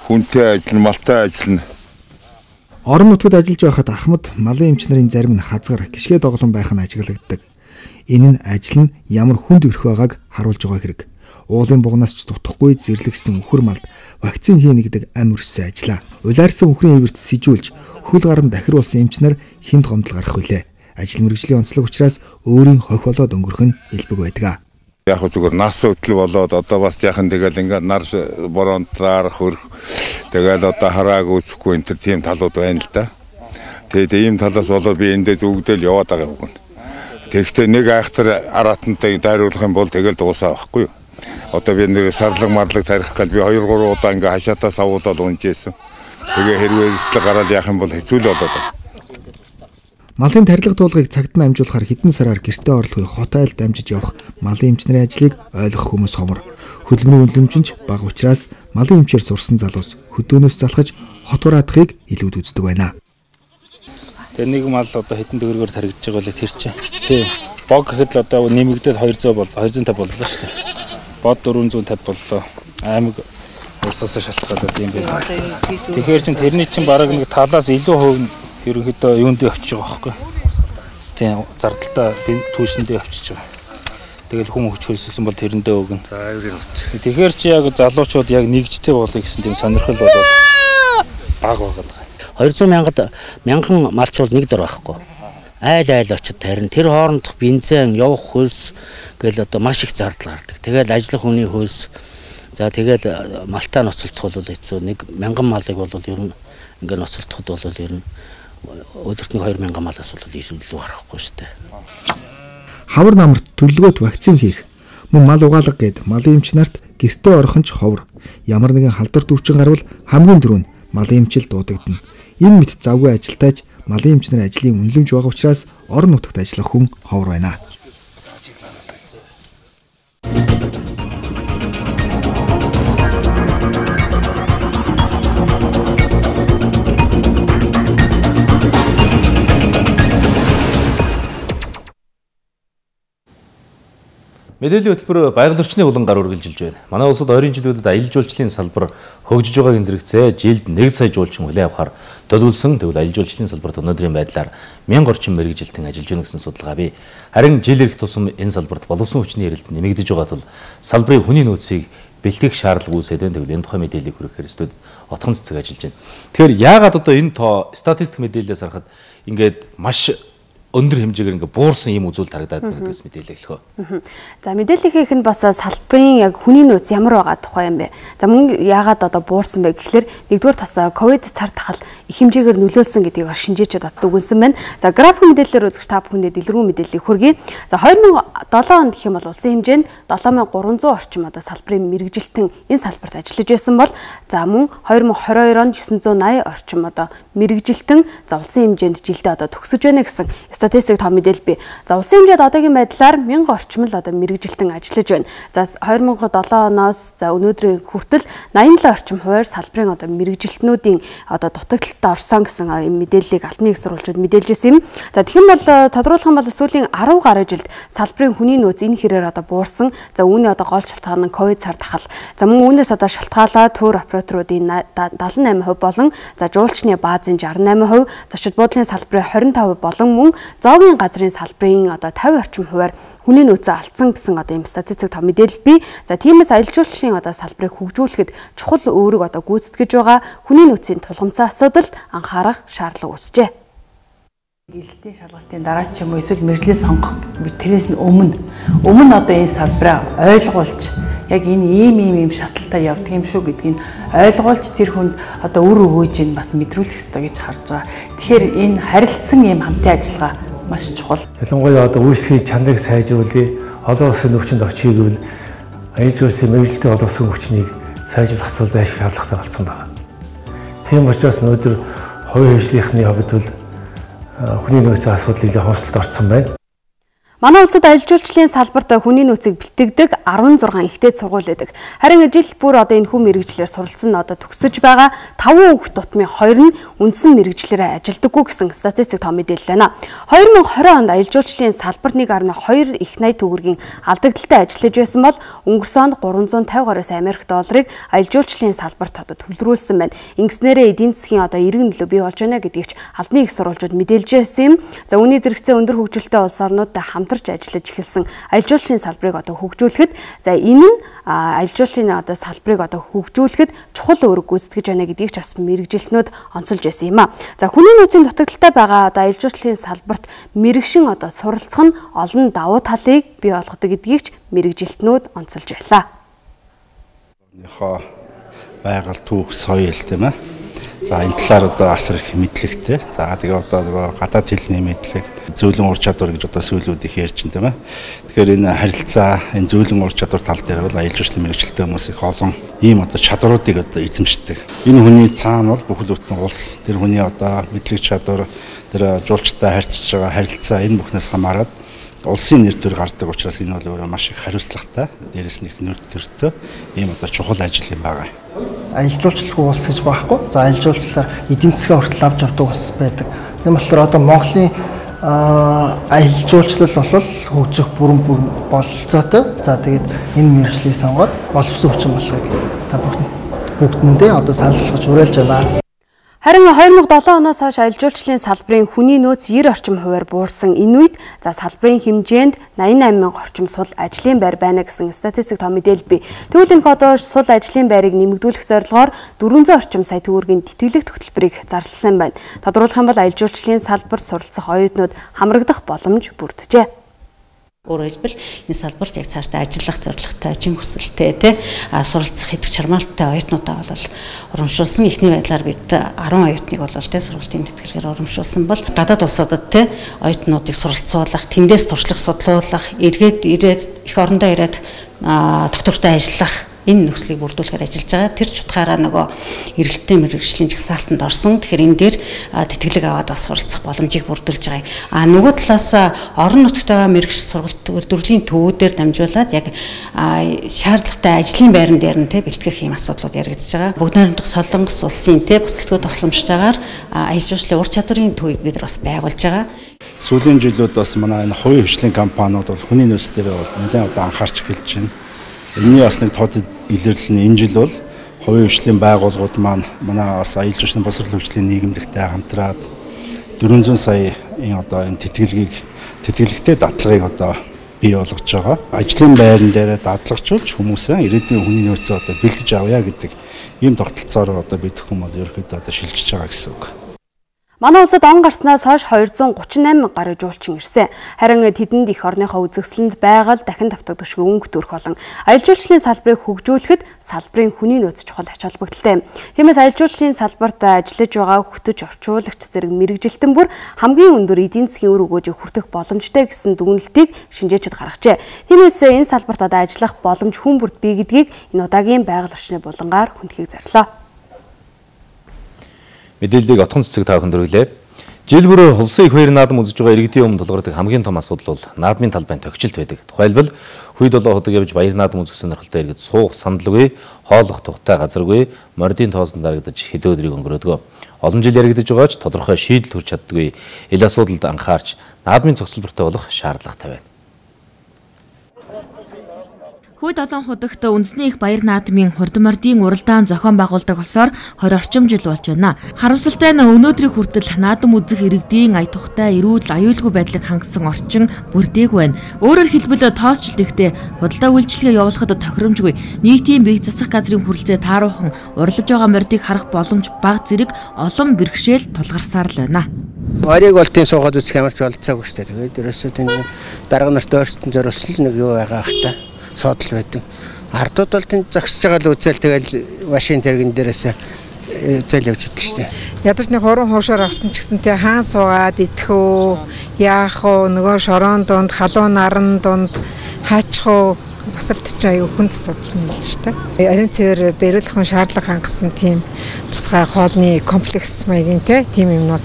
хүнтэй ажил, малтай ажил. Орон нутгад ажиллаж байхад ахмад малын эмч нарын зарим нь хазгар гიშгэ доглон байх нь ажиглагддаг. Энэ нь ажил нь ямар хүнд өрх байгааг харуулж байгаа хэрэг. Уулын бугнаас ч дутхгүй зэрлэгсэн үхэр малд вакцин хийнэ гэдэг ам өрсөн ажиллаа. Улаарсан үхрийн ивэрт сижүүлж хөл гарan дахируулсан эмч нар хинт гомдол гарах вүлээ. Ажил мэргэжлийн онцлог учраас өөрийн хохь болоод өнгөрөх нь элбэг байдаг. Яг зүгээр нас өтөл болоод одоо бас яхан тэгэл ингээд нар боронтраар хөрх тэгэл одоо харааг үүсэхгүй энэ тийм талууд байна л да. Тэгээд ийм талаас болоод би эндээ зүгдэл яваад байгаа юм. Тэгэхдээ нэг айхтар аратантай дайруулах юм бол тэгэл дуусаа байхгүй юу? Одоо би нэр сарлаг марлаг тарих гал би хоёр гурван удаа ингээ хашаатаа савуулаад унжээсэн. Тэгээ хэрвээ эрсдэл гараад яах юм бол хэцүү л болоод байна. Малын тарилга туулгыг цагт нь амжуулахаар хэдэн сараар гэртээ орлогыг хот айл дамжиж явах малын эмч нарын ажлыг ойлгох хүмүүс хомор. Хөдөлмөрийн үнэлэмжинч бага учраас малын эмчээр сурсан залуус хөдөөнөөс залхаж хот ураадахыг илүүд үздэг байна. Тэгээ нэг мал одоо хэдэн төгрөгөөр таригдж байгаа л тэр чинь. Тий. Бог гэхэд л одоо нэмэгдээд двести бол двести и пятьдесят боллоо шүү дээ. Бод дөрвөн зуун тавьд боллоо. Аймаг улсаас шалтгаалаад юм байна. Тэгэхээр чин тэрний чин бараг нэг талаас илүү хувь ерөнхийдөө юунд очиж байгаа байхгүй. Тийм зардалтаа түүшэндээ очиж байгаа. Тэгэл хүн хүч хөлсөсөн бол тэрэндээ өгнө. За авирын хүч. Тэгэхээр чи яг залуучууд яг нэгжтэй болъё гэсэн тийм сонирхол бол бага байгаа. двести мянгад мянган малчул нэг дор байхгүй. Айл айл очиж тарин тэр хоорондох бензин явах хөлс гэл одоо маш их зардал гардаг. Тэгэл ажиллах хүний хөлс за тэгэл малтаа ноцолдох бол хэцүү. Нэг мянган малыг бол ер нь ингээ ноцолдоход бол ер нь өдөрт нэг две мянган малаас бол илүү гарахгүй шүү дээ. Хавар намарт төлөвлөгөөт вакцин хийх, мөн мал угаалга гээд малын эмч нарт гэртээ орхон ч ховор. Ямар нэгэн халдвар төвчин гарвал хамгийн түрүүнд малын эмчил дуудагдана. Энэ мэт завгүй ажилтайж малын эмч нарын ажлын үнэлэмж байгаа учраас орон нутагт ажиллах хүн ховор байна. Мэдээллийн хөтөлбөр байгаль орчны булан гар үргэлжилж байна. Манай улсад ойрын жилүүдэд аялал жуулчлалын салбар хөгжиж байгааг зэрэгцээ жилд нэг сая жуулчин хүлээн авахар төлөвлөсөн. Тэгвэл аялал жуулчлалын салбарт өнөөдрийн байдлаар мянга орчим мэргэжилтэн ажиллаж байна гэсэн судалгаа бий. Харин жил ирэх тусам энэ салбарт боловсон хүчний эрэлт нэмэгдэж байгаа тул салбарын хүний нөөцийг бэлтгэх шаардлага үүсээд байна. Тэгвэл энэ тухай мэдээллийг хүрэхээр студид отхон цэцэг ажиллаж байна. Тэгэхээр яагаад одоо энэ тоо статистик мэдээлэлээс харахад ингээд маш өндөр хэмжээгээр ингээ буурсан юм үзүүл тарагдаад байна гэдгээс мэдээлэл эхлэхөө. За мэдээллийнх нь бас салбарын яг хүний нөөц ямар байгаа тухай юм бэ? За мөн яагаад одоо буурсан бэ гэхэлэр нэгдүгээр тас ковид цар тахал их хэмжээгээр нөлөөлсөн гэдгийг шинжээчид бат дүгнсэн байна. За график мэдээлэлээр үзэж та бүхэндээ дэлгэрэнгүй мэдээллийг хүргэе. За две тысячи седем онд гэх юм бол улсын хэмжээнд seven thousand three hundred орчим одоо салбарын мэргэжилтэн энэ салбарт ажиллаж байсан бол за мөн twenty twenty-two онд nine eighty орчим одоо мэргэжилтэн за улсын хэмжээнд жилдээ одоо төгсөж байна гэсэн статистик том мэдээлэл бий. За улсын хэмжээнд одоогийн байдлаар one thousand орчим л одоо мэргэжилтэн ажиллаж байна. За twenty oh seven оноос за өнөөдрийн хүртэл eighty-seven орчим хувиар салбарын одоо мэргэжилтнүүдийн одоо дутагдaltaд орсон гэсэн мэдээллийг албаны их сурвалжууд мэдээлжсэн юм. За тэгэх юм бол тодруулах юм бол сүүлийн ten гаруй жилд салбарын хүний нөөц энэ хэрээр одоо буурсан. За үүний одоо гол шалтгаан нь ковид цар тахал. За мөн үүнээс одоо шалтгаалаад төр операторуудын seventy-eight percent болон за жуулчны баазын sixty-eight percent, зочид буудлын салбарын twenty-five percent болон мөн зоогийн газрын салбарын одоо fifty орчим хувиар хүний нөөцөө алдсан гэсэн одоо юм статистик том мэдээлэл бий. За тиймээс аялал жуулчлалын одоо салбарыг хөгжүүлэхэд чухал өөрөг одоо гүйцэтгэж байгаа хүний нөөцийн тулгымцсан асуудалд анхаарах шаардлага үүсжээ. Гэлтийн шалгалтын дараа ч юм уу эсвэл мэржлээ сонгох тэрээс нь өмнө өмнө одоо энэ салбараа ойлгуулж яг энэ ийм ийм ийм шаталтай явдаг юм шүү гэдгийг ойлгуулж тэр хүнд одоо үр өгөөж ин бас мэдрүүлэх ёстой гэж харж байгаа. Тэгэхээр энэ харилцсан ийм хамтын ажиллагаа маш чухал. Ялангуяа одоо үйлчлэгийн чанарыг сайжруулъя, олон улсын өвчнөд очие гэвэл аяз жуулчлалын мэргэжилтийн олон улсын өвчнийг сайжруулах асуудал зайлшгүй шаардлагатай болсон байна. Тийм учраас өнөөдөр хувийн хөгжлийнхний хувьд бол хүний нөөцийн асуудал илүү хөвсөлт орсон байна. Манай улсад аялал жуулчлалын салбарт хүний нөөцийг бэлтгэдэг арван зургаан ихтэй сургууль байдаг. Харин жил бүр одоо энэ хүн мэрэгчлэр суралцсан одоо төгсөж байгаа таван хүүхд тутмын хоёр нь үндсэн мэрэгчлэрээ ажилдаггүй гэсэн статистик тоо мэдээлэл байна. хоёр мың и двадцать онд аялал жуулчлалын салбарт нэг гаруй хоёр их найд төгрөгийн алдагдaltaй ажиллаж байсан бол өнгөрсөн онд гурван зуун тавь гаруй Америк долларыг аялал жуулчлалын салбарт одоо төвлөрүүлсэн байна. Ингэснээрээ эдийн засгийн одоо эргэн нөлөө бий болж байна гэдгийг ч албаны их сурвалжууд мэдээлж байсан юм. За үүний зэрэгцээ өндөр хөгжилтэй улс орнуудтай хамтарч ажиллаж эхэлсэн аялал жуулчлалын салбарыг одоо хөгжүүлэхэд за энэ нь аялал жуулчлалын одоо салбарыг одоо хөгжүүлэхэд чухал үүрэг гүйцэтгэж байна гэдгийг ч бас мэрэгжилтнүүд онцолж байсан юм а. За хүний нөөцийн дутагдaltaй байгаа одоо аялал жуулчлалын салбарт мэрэгшин одоо суралцах нь олон давуу талыг бий болгодог гэдгийг ч мэрэгжилтнүүд онцолж байлаа. Нөхөө байгаль түүх соёл тийм ээ. За энэ талаар одоо асар их мэдлэгтэй. За тэгээ одоо нөгөө гадаад хэлний мэдлэг, зөөлөн ур чадвар гэж одоо сүүлүүд их ярьж байна тийм ээ. Тэгэхээр энэ харилцаа, энэ зөөлөн ур чадвар тал дээр бол аялал жуулчлалын мэрэгчлэлтэй хүмүүс их олон ийм одоо чадваруудыг одоо эзэмшдэг. Энэ хүний цаана бол бүхэл бүтэн улс, тэр хүний одоо мэдлэг чадвар, тэр жуулчтай харьцаж байгаа харилцаа энэ бүхнээс хамаарат улсын нэр төр гардаг учраас энэ бол өөрөө маш их хариуцлагатай, дээрээс нь их нэр төртэй ийм одоо чухал ажил юм байгаа. Аялал жуулчлалгүй улс гэж байхгүй. За аялал жуулчлалаар эдийн засгийн хүртэл авч явдаг улс байдаг. Тийм болохоор одоо Монголын аялал жуулчлал бол хөгжих бүрэн бүр бололцоотой. За тэгээд энэ мэргэжлийг сонгоод боловсон хүчин болохыг та бүгдэндээ одоо санал болгож уриалж байна. Харин хоёр мың и долоо оноос хойш аялал жуулчлалын салбарын хүний нөөц девяносто орчим хувиар буурсан энэ үед за салбарын хэмжээнд восемьдесят восемь мянга орчим сул ажлын байр байна гэсэн статистик тоо мэдээлэл бий. Тэгвэл энэ одоо сул ажлын байрыг нэмэгдүүлэх зорилгоор дөрвөнзөө орчим сая төгрөгийн тэтгэлэг тогтолборыг зарласан байна. Тодруулах юм бол аялал жуулчлалын салбарт суралцах оюутнууд хамрагдах боломж бүрджээ. Өөрөөр хэлбэл энэ салбарт яг цаашдаа ажиллах зорилготой, жин хүсэлтэй тий суралцах хэдв чармаалттай оюутнуудаа бол урамшуулсан. Эхний байдлаар бид арван оюутныг бол тий сургалтын тэтгэлгээр урамшуулсан бол гадаад улсуудад тий оюутнуудыг суралцуулах, тэндээс туршлага судлуулах, эргээд ирээд эх орондоо ирээд доктортой ажиллах энэ нөхцөлийг бүрдүүлэхээр ажиллаж байгаа. Тэр ч утгаараа нөгөө эрэлттэй мэргэжлийн жагсаалтанд орсон. Тэгэхээр энэ дээр тэтгэлэг аваад бас суралцах боломжийг бүрдүүлж байгаа юм. А нөгөө талаас орон нутагт байгаа мэргэж сургалт төрлийн төвүүдээр дамжуулаад яг шаардлагатай ажлын байран дээр нь тэ бэлтгэх юм асуудлууд яригдж байгаа. Бүгд найрамдах Солонгос улсын тэ бүсэлтгүүд тусламжтайгаар аялал жуулчлалын ур чадварын төвийг бид бас байгуулж байгаа. Сүүлийн жилүүд бас манай энэ хувийн хвшлийн компаниуд бол хүний нөөц дээр бол нэлээд одоо анхаарч эхэлж байна. Энэний бас нэг тод илэрлэл нь энэ жил бол хувийн хвшлийн байгууллагууд маань манай бас аялал жуулчлалын боловсрол хөгжлийн нийгэмлэгтэй хамтраад дөрвөнзөө сая энэ одоо энэ тэтгэлгийг тэтгэлэгтэй датлагыг одоо бий болгож байгаа. Ажлын байран дээр датлагжуулж хүмүүсээ ирээдүйн хүний нөөцөө одоо бэлдэж авъя гэдэг ийм тогтолцоороо одоо бид хүмүүс ерөөхдөө одоо шилжиж байгаа гэсэн үг. Манай улсад он гарснаас хойш двести тридцать восемь мянга гаруй жуулчин ирсэн. Харин тэдэнд их орныхоо үзэсгэлэнд байгаль дахин давтагдчихгүй өнгө төрөх болон аялал жуулчлалын салбарыг хөгжүүлэхэд салбарын хүний нөөц чухал ач холбогдолтой. Тиймээс аялал жуулчлалын салбарт ажиллаж байгаа хөтөж орчуулагч зэрэг мэрэгжилтэн бүр хамгийн өндөр эдийн засгийн үр өгөөжийг хүртэх боломжтой гэсэн дүгнэлтийг шинжээчид гаргажээ. Тиймээс энэ салбарт одоо ажиллах боломж хүн бүрт бий гэдгийг энэ удаагийн байгаль орчны булангаар хүндэхийг зарлаа. Мэдээллийг отхон цэцэг та бүхэнд хүргэлээ. Жил бүр улсын их баяр наадам үзэж байгаа иргэдийн өмнө тулгардаг хамгийн том асуудал бол наадмын талбайн тогтчлт байдаг. Тухайлбал хүйд долоо ходог явж баяр наадам үзэх сонирхолтой иргэд суух сандалгүй, хооллох тухтай газаргүй, мордын тоосон дарагдаж хэдэн өдрийг өнгөрөөдөг. Олон жил яригдж байгаа ч тодорхой шийдэл хүрч чаддаггүй. Энэ асуудалд анхаарч наадмын цогцлбортой болох шаардлагатай байна. Хүйд олон худагт үндэсний их баяр наадмын хурдмордын уралдаан зохион байгуулдаг улсоор хоёр орчим жил болж байна. Харамсалтай нь өнөөдрийн хүртэл наадам үзэх иргэдийн ая тухтай, эрүүл, аюулгүй байдлыг хангасан орчин бүрдээгүй байна. Өөрөөр хэлбэл тоосчлт ихтэй худалдаа үйлчилгээ явуулахад тохиромжгүй, нийтийн бие засах газрын хүрэлцээ тааруухан, урлаж байгаа мордыг харах боломж бага зэрэг олон бэрхшээл тулгарсаар л байна. Орийг бол тийм суугаад үзэх ямарч болцоогүй шүү дээ. Тэгээд ерөөсөө тийм дарга нарт өөрсдөн зориулсан л нэг юу байгаа хта. Содл байдаг. Ардууд бол тэнд зогсож байгаа л үзэл тэгэл машин тэрэгэн дээрээс зэл явж идэх штеп. Ядаж нэг хуран хуушаар авсан ч гэсэн тэ хаан суугаад идэх үү, яах уу, нөгөө шорон донд, халуун наран донд хаачих уу бас л тийч аюу хүнд асуудал юм байна штеп. Ариун цэвэр дээрлэхэн шаардлага хангасан тийм тусгай хоолны комплекс маягийн тэ тийм юмнууд.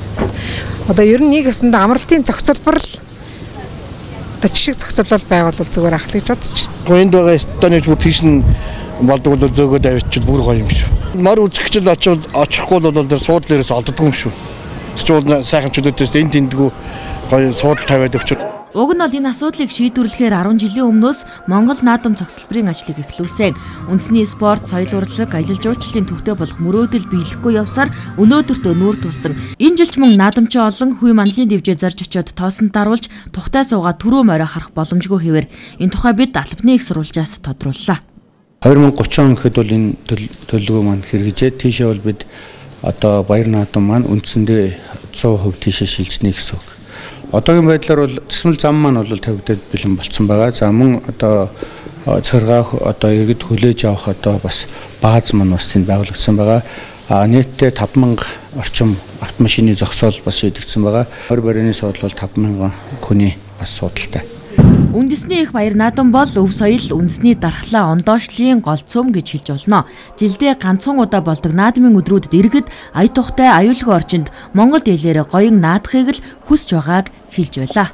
Одоо ер нь нэг ясанд амралтын зохицолбор л одоо жишг зохицуулалт байгуулвал зүгээр ах л гэж бодож байна. Энд байгаа стадионч бүр тийш нь болдог бол зөөгөөд авчил бүр гоё юм шүү. Мар үзэгчл очивол очихгүй бол тэр суудлын ерөөс олддгүй юм шүү. Тэгвэл сайхан чөлөөтөөс энэ тэндгүү гоё суудал тавиад өгч. Уг нь бол энэ асуудлыг шийдвэрлэхээр арван жилийн өмнөөс Монгол наадам цогцлборын ажлыг эхлүүлсэн. Үндэсний спорт, соёл урлаг, аялал жуулчлалын төвтэй болох мөрөөдөл биелэхгүй явсаар өнөөдөртөө нүүр тулсан. Энэ жилч мөн наадамчин олон хүй манлын дэвжээ зарж очиод тоосонд даруулж тухтай суугаад түрүү морой харах боломжгүй хэвээр энэ тухай бид албаны их сурвалжаас тодрууллаа. две тысячи тридцать он гэхэд бол энэ төлөвлөгөө маань хэрэгжээд тийшээ бол бид одоо баяр наадам маань үндсэндээ сто процент тийшээ шилжнэ гэсэн үг. Одоогийн байдлаар бол цэцмэл зам маань бол тавигдаад бэлэн болцсон байгаа. За мөн одоо царгаах одоо иргэд хүлээж авах одоо бас бааз маань бас тэнд байгуулагдсан байгаа. А нийтдээ таван мянга орчим автомашины зогсоол бас шийдэгдсэн байгаа. Хор барины суудлал таван мянган хүний бас суудалтай. Үндэсний их баяр наадам бол өв соёл, үндэсний дархлаа, ондоошлын гол цөм гэж хэлж болно. Жилдээ ганцхан удаа болдог наадмын өдрүүдэд иргэд ая тухтай аюулгүй орчинд Монгол дийлэрэ гоён наадахыг л хүсэж байгааг хэлж байлаа.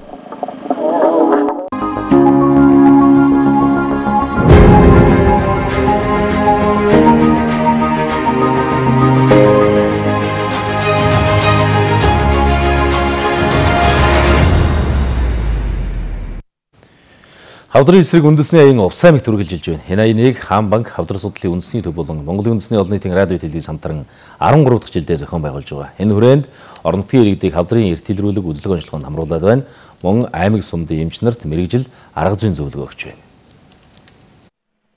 Хавдрын эсрэг үндэсний аян увс аймагт үргэлжилж байна. Энэ аяныг Хаан банк, Хавдар судлалын үндэсний төв болон Монголын үндэсний олон нийтийн радио телевиз хамтран арван гурав дахь жилдээ зохион байгуулж байгаа. Энэ хүрээнд орон нутгийн иргэдийг Хавдрын эрт илрүүлэг үзлэг онцлогоонд хамруулад байна. Мөн аймаг сумдын эмч нарт мэрэгжил арга зүйн зөвлөгөө өгч байна.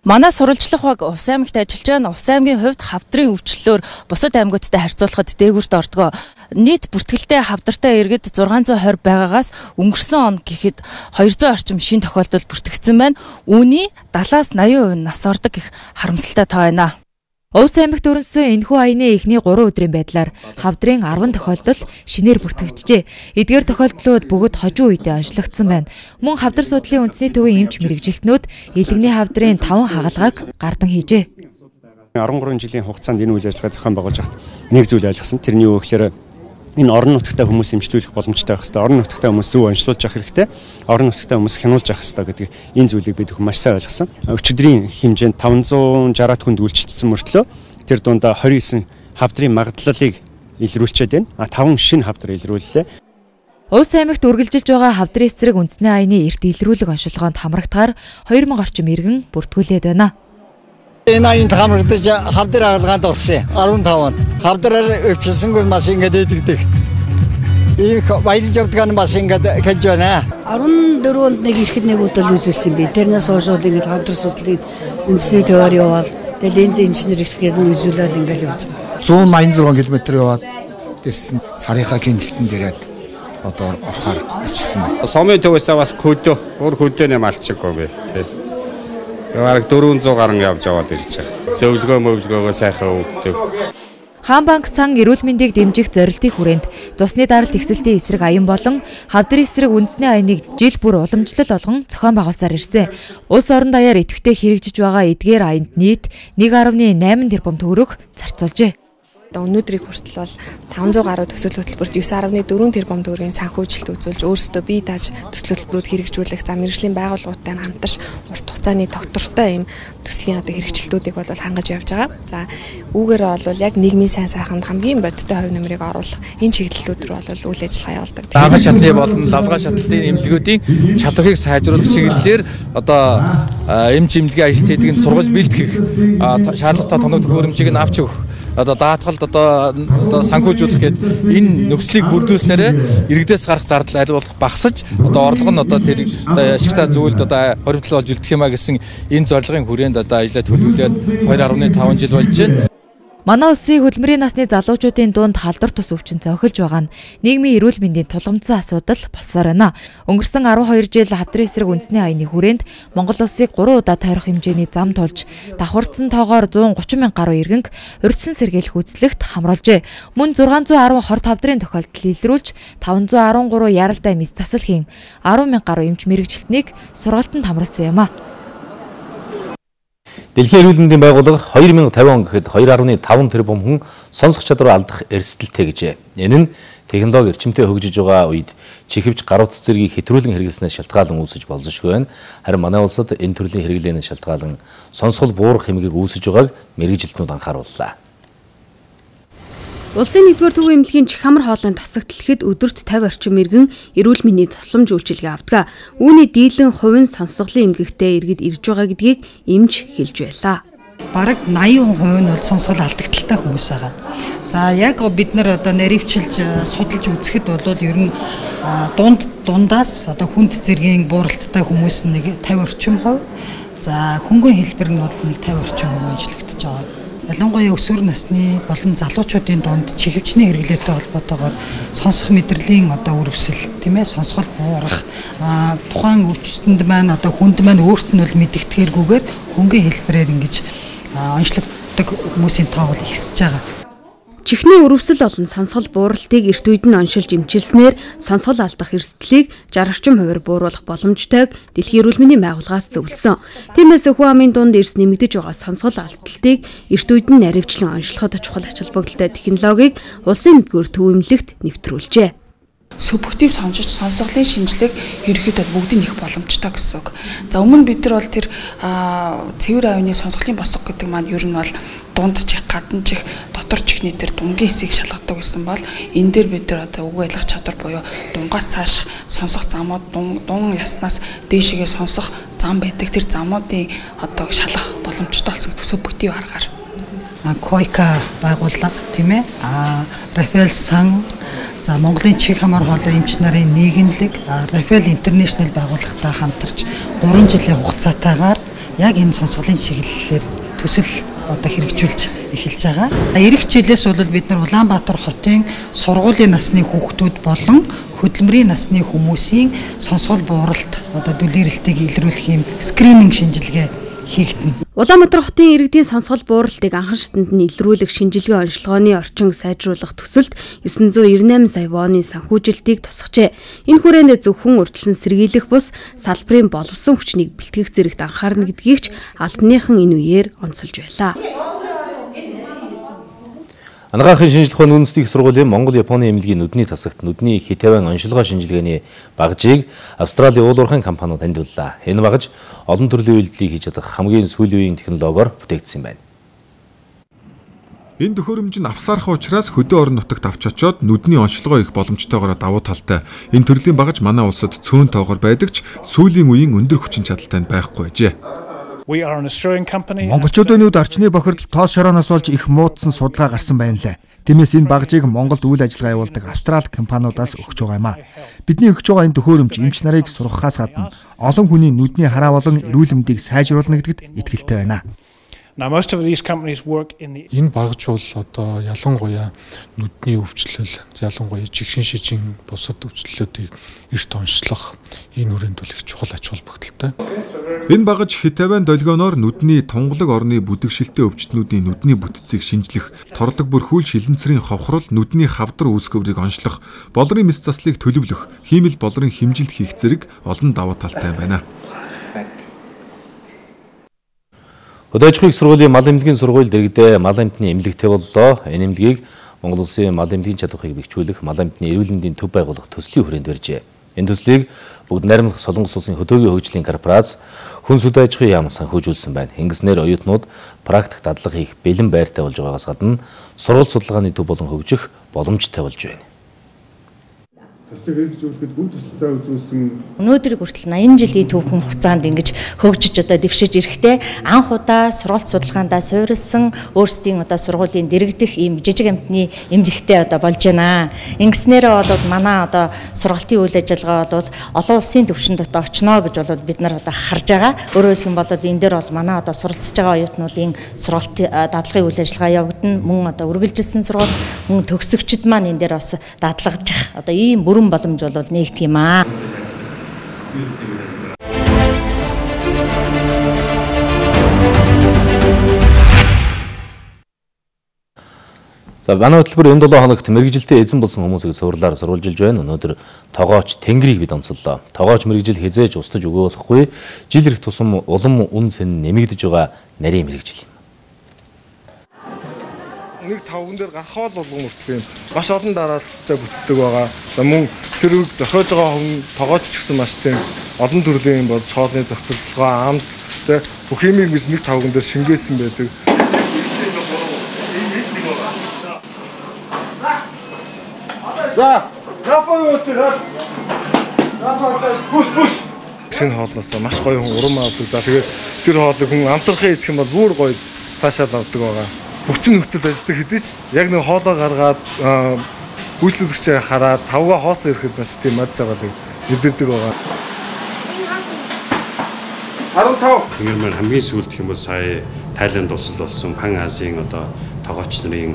Манай сурвалжлах баг Увс аймагт ажиллаж байна. Увс аймгийн хувьд Хавдрын өвчлөлөөр бусад аймагуудтай харьцуулахад дээгүүрт ордог. Нийт бүртгэлтэй Хавдартай иргэд зургаан зуун хорь байгаагаас өнгөрсөн он гэхэд хоёр зуун орчим шин тохиолдол бүртгэгдсэн байна. Үүний дагааас восемьдесят процент нас ордог гэх харамсалтай тоо байна. Увс аймагт өрнсөн энэхүү аяны эхний гурван өдрийн байдлаар Хавдрын арван тохиолдол шинээр бүртгэгджээ. Эдгээр тохиолдлууд бүгд хожуу үедээ онцлогдсон байна. Мөн Хавдар судлалын үндэсний төвийн эмч мэрэгжилтнүүд Илэгний Хавдрын таван хагалгааг гардан хийжээ. арван гурван жилийн хугацаанд энэ үйл ажиллагаа зохион байгуулж байхад нэг зүйл ойлгосон. Тэрний юу гэхээр энэ орон нутгтай хүмүүс эмчлүүлэх боломжтой байх хэрэгтэй. Орон нутгтай хүмүүс зөв онцлуулж авах хэрэгтэй. Орон нутгтай хүмүүс хянуулж авах хэрэгтэй гэдэг энэ зүйлийг бид хүмүүс маш сайн ойлгосон. Өчигдрийн хэмжээнд таван зуун шестьдесят хүнд үйлчилсэн мөртлөө тэр дунд двадцать девять хавдрын магадлалыг илрүүлчихэд байна. А таван шинэ хавдар илрүүллээ. Увс аймагт үргэлжилж байгаа Хавдрын эсрэг үндэсний аяны эрт илрүүлэг онцлогоонд хамрагдахаар хоёр мянга орчим иргэн бүртгүүлээд байна. Энэ аянд хамрагдаж Хавдар хаалгаанд орсон. арван таванд. Хавдраар өвчлсөнгүй маш ингэж идэгдэг. Их баярлж явдаг нь бас ингэж хэлж байна. арван дөрөвөнд нэг ирэхэд нэг удаа үзүүлсэн би. Тэрнээс хойш бол ингэж Хавдар судлалын үндэсний төвөөр яваад тэгэл энд инженер ихгээр үзүүлээд ингэж явж байгаа. зуун аян зургаан километр яваад дэрсэн сарынхаа гинэлтэн дээрээд одоо орохоор ирчихсэн байна. Сомын төвөөсөө бас хөдөө, өөр хөдөөний малчиггүй би. Бараг дөрвөн зуун гаруй явж аваад ирж байгаа. Зөвлөгөө мөвлөгөөгөө сайхан өгдөг. Хаан банк сан эрүүл мэндийг дэмжих зорилтын хүрээнд цусны даралт ихсэлтийн эсрэг аян болон Хавдар эсрэг үндэсний аяныг жил бүр уламжлал болгон зохион байгуулсаар ирсэн. Улс орон даяар идэвхтэй хэрэгжиж байгаа эдгээр аянд нийт нэг дашик найман тэрбум төгрөг зарцуулжээ. Өнөөдрийг хүртэл бол таван зуун гаруй төсөл хөтөлбөрт девять дашик четыре тэрбум төгрөгийн санхүүжилт үзүүлж өөрсдөө бие дааж төсөл хөтөлбөрүүд хэрэгжүүлэх зам мэргэжлийн байгууллагуудтай хамтарч урт хугацааны доктортой юм төслийн одоо хэрэгжилтүүдийг бол хангаж явж байгаа. За үүгээрээ бол яг нийгмийн сайн сайханд хамгийн бодиттой хувь нэмрийг оруулах энэ чиглэлүүд рүү бол үйл ажиллагаа явуулдаг. Лаггай шатны болон лавгай шатлалын эмнэлгүүдийн чадварыг сайжруулах чиглэлээр одоо эмч эмнэлгийн ажилтнуудыг сургууль бэлтгэх шаардлагатай тоног төхөөрөмжийг нь авч өгөх одоо даатгалд одоо одоо санхүүжүүлэх гэдэг энэ нөхцөлийг бүрдүүлснээр иргэдээс гарах зардал аль болох багасж одоо орлого нь одоо тэр ашигтай зөвлөлд одоо хоримтлол болж үлдэх юмаа гэсэн энэ зорилгын хүрээнд одоо ажиллаа төлөвлөлөөд two дашик five жил болж байна. Манай улсын хөдөлмөрийн насны залуучуудын дунд халдвар тус өвчин цохилж байгаа нь нийгмийн эрүүл мэндийн тулгамдсан асуудал болсоор байна. Өнгөрсөн twelve жил Хавдрын эсрэг үндэсний аяны хүрээнд Монгол улсыг three удаа тойрох хэмжээний зам тулж давхарцсан тоогоор one thirty мянга гаруй иргэнг урьдчилан сэргийлэх үйлчлэгт хамруулжээ. Мөн six ten хорт хавдрын тохиолдол илрүүлж five thirteen яралтай мис засал хийн ten мянга гаруй эмч мэрэгжилтнийг сургалтанд хамруулсан юм а. Дэлхийн эрүүл мэндийн байгууллага хоёр мянга тавин он гэхэд хоёр гаруй таван тэрбум хүн сонсох чадвар алдах эрсдэлтэй гэжээ. Энэ нь технологи эрчимтэй хөгжиж байгаа үед чихвч гар утас зэргийг хэтрүүлэн хэрэглэснээс шалтгаалan үүсэж болзошгүй байна. Харин манай улсад энэ төрлийн хэрэглэнээс шалтгаалan сонсгол буурах хэмжээг үүсэж байгааг мэргэжилтнүүд анхаарууллаа. Улсын нэгдүгээр төвийн эмнэлгийн чих хамар хоолойн тасагдлахад өдөрт тавин орчим иргэн эрүүл мэндийн тусламж үйлчилгээ авдаг. Үүний дийлэн хувийн сонсголын эмгэгтэй иргэд ирж байгаа гэдгийг эмч хэлж байлаа. Бараг восемь хувь нь бол сонсгол алдагдaltaй хүмүүс байгаа. За яг бид нар одоо наривчилж судалж үзэхэд бол ер нь дунд дундаас одоо хүнд зэргийн бууралттай хүмүүс нэг тавин орчим хувь. За хөнгөн хэлбэр нь бол нэг тавин орчим хувь ажиллагдаж байгаа. Ялангуяа өсвөр насны болон залуучуудын дунд чихвчний хэрэглээтэй холбоотойгоор сонсох мэдрэлийн одоо үрвсэл тийм ээ сонсгол буурах тухайн өвчтөнд маань одоо хүнд маань өөрт нь бол мэдэгдэхэргүйгээр хөнгөн хэлбэрээр ингэж онцлогддог хүмүүсийн тоо бол ихсэж байгаа. Чихний өрөвсөл болон сонсгол бууралтыг эрт үед нь оншилж эмчилснээр сонсгол алдах эрсдлийг шарх орчим хувиар бууруулах боломжтойг Дэлхийн эрүүл мэндийн байгууллагаас зөвлөсөн. Тиймээс хүн амын дунд эрс нэмэгдэж байгаа сонсгол алдалтыг эрт үед нь наривчлан онцлоход чухал ач холбогдолтой технологиг улсын нэгдүгээр төв эмнэлэгт нэвтрүүлжээ. Субъектив сонсож сонсголын шинжилгээг ерөнхийдөө бүгдийг их боломжтой гэсэн үг. За өмнө бид нар бол тэр цэвэр авины сонсголын босго гэдэг маань ер нь бол дунд чих, гадна чих, дотор чихний тэр дунгийн хэсгийг шалгадаг гэсэн бол энэ дээр бид нар одоо үг ойлгох чадвар буюу дунгаас цааш сонсох замууд дун яснаас дээшээгээ сонсох зам байдаг. Тэр замуудын одоо шалгах боломжтой болсон субъектив аргаар. Койка байгууллага тийм ээ. А Рафаэл сан за Монголын чих хамар хоолой эмч нарын нийгэмлэг Рафаэл Интернэшнл байгууллагатай хамтарч гурван жилийн хугацаатаагаар яг энэ сонсголын чиглэлээр төсөл одоо хэрэгжүүлж эхэлж байгаа. Ирэх жилээс бол бид нар Улаанбаатар хотын сургуулийн насны хүүхдүүд болон хөдөлмөрийн насны хүмүүсийн сонсгол бууралт одоо дүлээрэлтийг илрүүлэх юм скрининг шинжилгээ хийгдэнэ. Улаанбаатар хотын иргэдийн сонсгол бууралтыг анхан шатанд нь илрүүлэх шинжилгээ онцлогооны орчин сайжруулах төсөлд девять нэр найман сая вооны санхүүжилтийг тусгажээ. Энэ хүрээнд зөвхөн урьдчилан сэргийлэх бус салбарын боловсон хүчнийг бэлтгэх зэрэгт анхаарна гэдгийг ч албаныхан энэ үеэр онцолж байлаа. Анагаахын шинжилгээ ухааны үндэсний их сургуулийн Монгол Японы эмнэлгийн нүдний тасагт нүдний хит тавин оншилгоо шинжилгээний багжийг Австралийн уул уурхайн компаниуд танилцууллаа. Энэ багж олон төрлийн үйлдэлийг хийж чадах хамгийн сүүлийн үеийн технологиор бүтээгдсэн байна. Энэ төхөөрөмж нь авсаархан учраас хөдөө орон нутагт авч очоод нүдний оншилгоо их боломжтойгоор давуу талтай. Энэ төрлийн багж манай улсад цөөн тоогоор байдаг ч сүүлийн үеийн өндөр хүчин чадалтай байхгүй байжээ. Монголчуудын нүд орчны бохирдол тоос шорооноос болж их муудсан судалгаа гарсан байна лээ. Тиймээс энэ багжийг Монголд үйл ажиллагаа явуулдаг Австрали компаниудаас өгч байгаа юм а. Бидний өгч байгаа энэ төхөөрөмж эмч нарыг сургахаас гадна олон хүний нүдний хараа болон эрүүл мэндийг сайжруулна гэдэгт итгэлтэй байна. Энэ багж бол одоо ялангуяа нүдний өвчлөл, ялангуяа жигшин шижин бусад өвчлөлүүдийг эрт онцлох энэ үрээнд бол их чухал ач холбогдолтой. Энэ багж хит тавин долгионоор нүдний тунгалаг орны бүдэгшилтэй өвчтнүүдийн нүдний бүтцийг шинжлэх, торлог бүрхүүл шилэнцрийн ховхрол, нүдний хавдар үүсгэрийг онцлох, болрын мэс заслыг төлөвлөх, хиймэл болрын хэмжилт хийх зэрэг олон давуу талтай байна. Хөдөө аж ахуйн их сургуулийн мал эмнэлгийн сургууль дэргэдээ мал амтны эмнэлэгтэй боллоо. Энэ эмнэлгийг Монгол Улсын мал эмнэлгийн чадварыг бэхжүүлэх мал амтны эрүүл мэндийн төв байгуулах төслийн хүрээнд барьжээ. Энэ төслийг бүгд найрамдах Солонгос улсын хөдөөгийн хөгжлийн корпорац хүнс хөдөө аж ахуйн яам санхүүжүүлсэн байна. Ингэснээр оюутнууд практик дадлага хийх бэлэн байртай болж байгаагаас гадна сургалт судалгааны төв болон хөгжих боломжтой болж байна. Төслийг хэрэгжүүлэхэд бүх төслөө үзүүлсэн өнөөдрийг хүртэл наян жилийн түүхэн хугацаанд ингэж хөгжиж одоо дэвшиж ирэхдээ анх удаа сургалт судалгаандаа суурилсан өөрсдийн одоо сургуулийн дэргэдэх ийм жижиг амтны эмнэлэгтэй одоо болж байна. Ингэснээр бол манай одоо сургалтын үйл ажиллагаа бол олон улсын түвшинд одоо очно гэж бол бид нар одоо харж байгаа. Өөрөөр хэлэх юм бол энэ дээр бол манай одоо суралцж байгаа оюутнуудын сургалт дадлагын үйл ажиллагаа явагдана. Мөн одоо үргэлжилсэн сургалт мөн төгсөгчд маань энэ дээр бас дадлагжих одоо ийм бүрэн боломж бол нэгдэх юм аа. За манай хөтөлбөр энэ долоо хоногт мэрэгжилтэй эзэн болсон хүмүүсийг цуурлаар сурвалжилж байна. Өнөөдөр тогооч Тэнгэрийг бид онцоллоо. Тогооч мэрэгжил хязээж устж өгөө болохгүй. Жил ирэх тусам улам үн сэн нэмэгдэж байгаа нарийн мэрэгжил. Нэг тавган дээр гарахаа л болгон мөртгөө юм. Маш олон дараалттай бүтдэг байгаа. За мөн тэр үг зохиож байгаа хүн тогооч ч гэсэн маш тийм олон төрлийн бол шоолны зохицуулга амт тэ бүх юмыг бид нэг тавган дээр шингээсэн байдаг. За, япон үчирэл. Япон пуш пуш. Шинэ хоолноос маш гоё хүн урам авдаг. За тэгээд тэр хоолыг хүн амтрахын идэх юм бол бүр гоё таашаал авдаг байгаа. Хүчин нөхцөл ажилладаг хэдий ч яг нэг хоолоо гаргаад үйлчлүүлэгчээ хараад тавга хоос ирэхэд маш тийм мад жаргалыг мэдэрдэг байгаа. арван тав. Тэнгэр маань хамгийн сүүлд гэх юм бол сая Тайланд улсад болсон Пан Азийн одоо тогооч нарын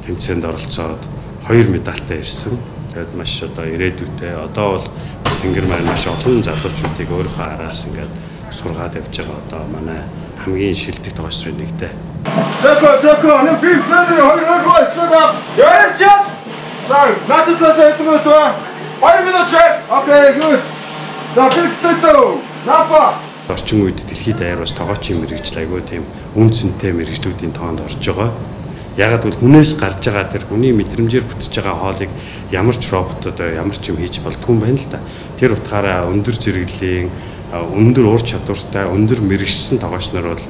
тэмцээнд оролцоод хоёр медальтай ирсэн. Тэгээд маш одоо ирээдүйтэй одоо бол бас Тэнгэр маань маш олон залуучуудыг өөрийнхөө араас ингээд сургаад явж байгаа одоо манай хамгийн шилдэг тогооч нарын нэгтэй. Жако жако нэг пивсэн хоёр хоёр шууд. Yes yes. За, надад тасаа идэх үү? хоёр минут чек. Окей, good. За, битүү. Напа. Орчин үед дэлхийд даяар бас тогоочийн мэрэгжил айгүй тийм үн цэнтэй мэрэгжлүүдийн тоонд орж байгаа. Ягаад гэвэл хүнээс гарч байгаа тэр хүний мэдрэмжээр бүтэж байгаа хоолыг ямар ч роботод ямар ч юм хийж болдгүй юм байна л да. Тэр утгаараа өндөр зэрэглэлийн өндөр ур чадвартай өндөр мэрэгжсэн тогооч нар бол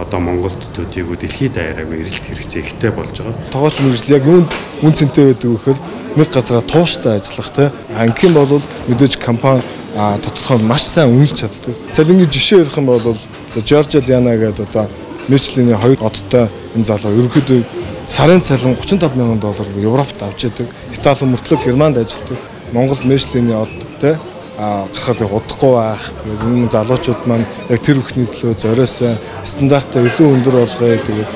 одоо Монголд төдийгүй дэлхийд даяар айгүй эрэлт хэрэгцээ ихтэй болж байгаа. Тогооч мэрэгжил яг юунд үн цэнтэй байдаг вэхээр нэг газараа тууштай ажиллах те. Ангийн бол мэдээж компани а тодорхой маш сайн үнэлж чаддаг. Цалингийн жишээ ярих юм бол за Жоржиа Диана гэдэг одоо Мичлийн хоёр одтой энэ залуу ерөнхийдөө сарын цалин гучин тав мянган доллар Европт авч яадаг. Итали мөртлөө Германд ажилладаг. Монгол Мичлийн од те а гарахад удахгүй байх. Тэгээд энэ залуучууд маань яг тэр бүхний төлөө зориосоо стандартаа илүү өндөр болгоё. Тэгээд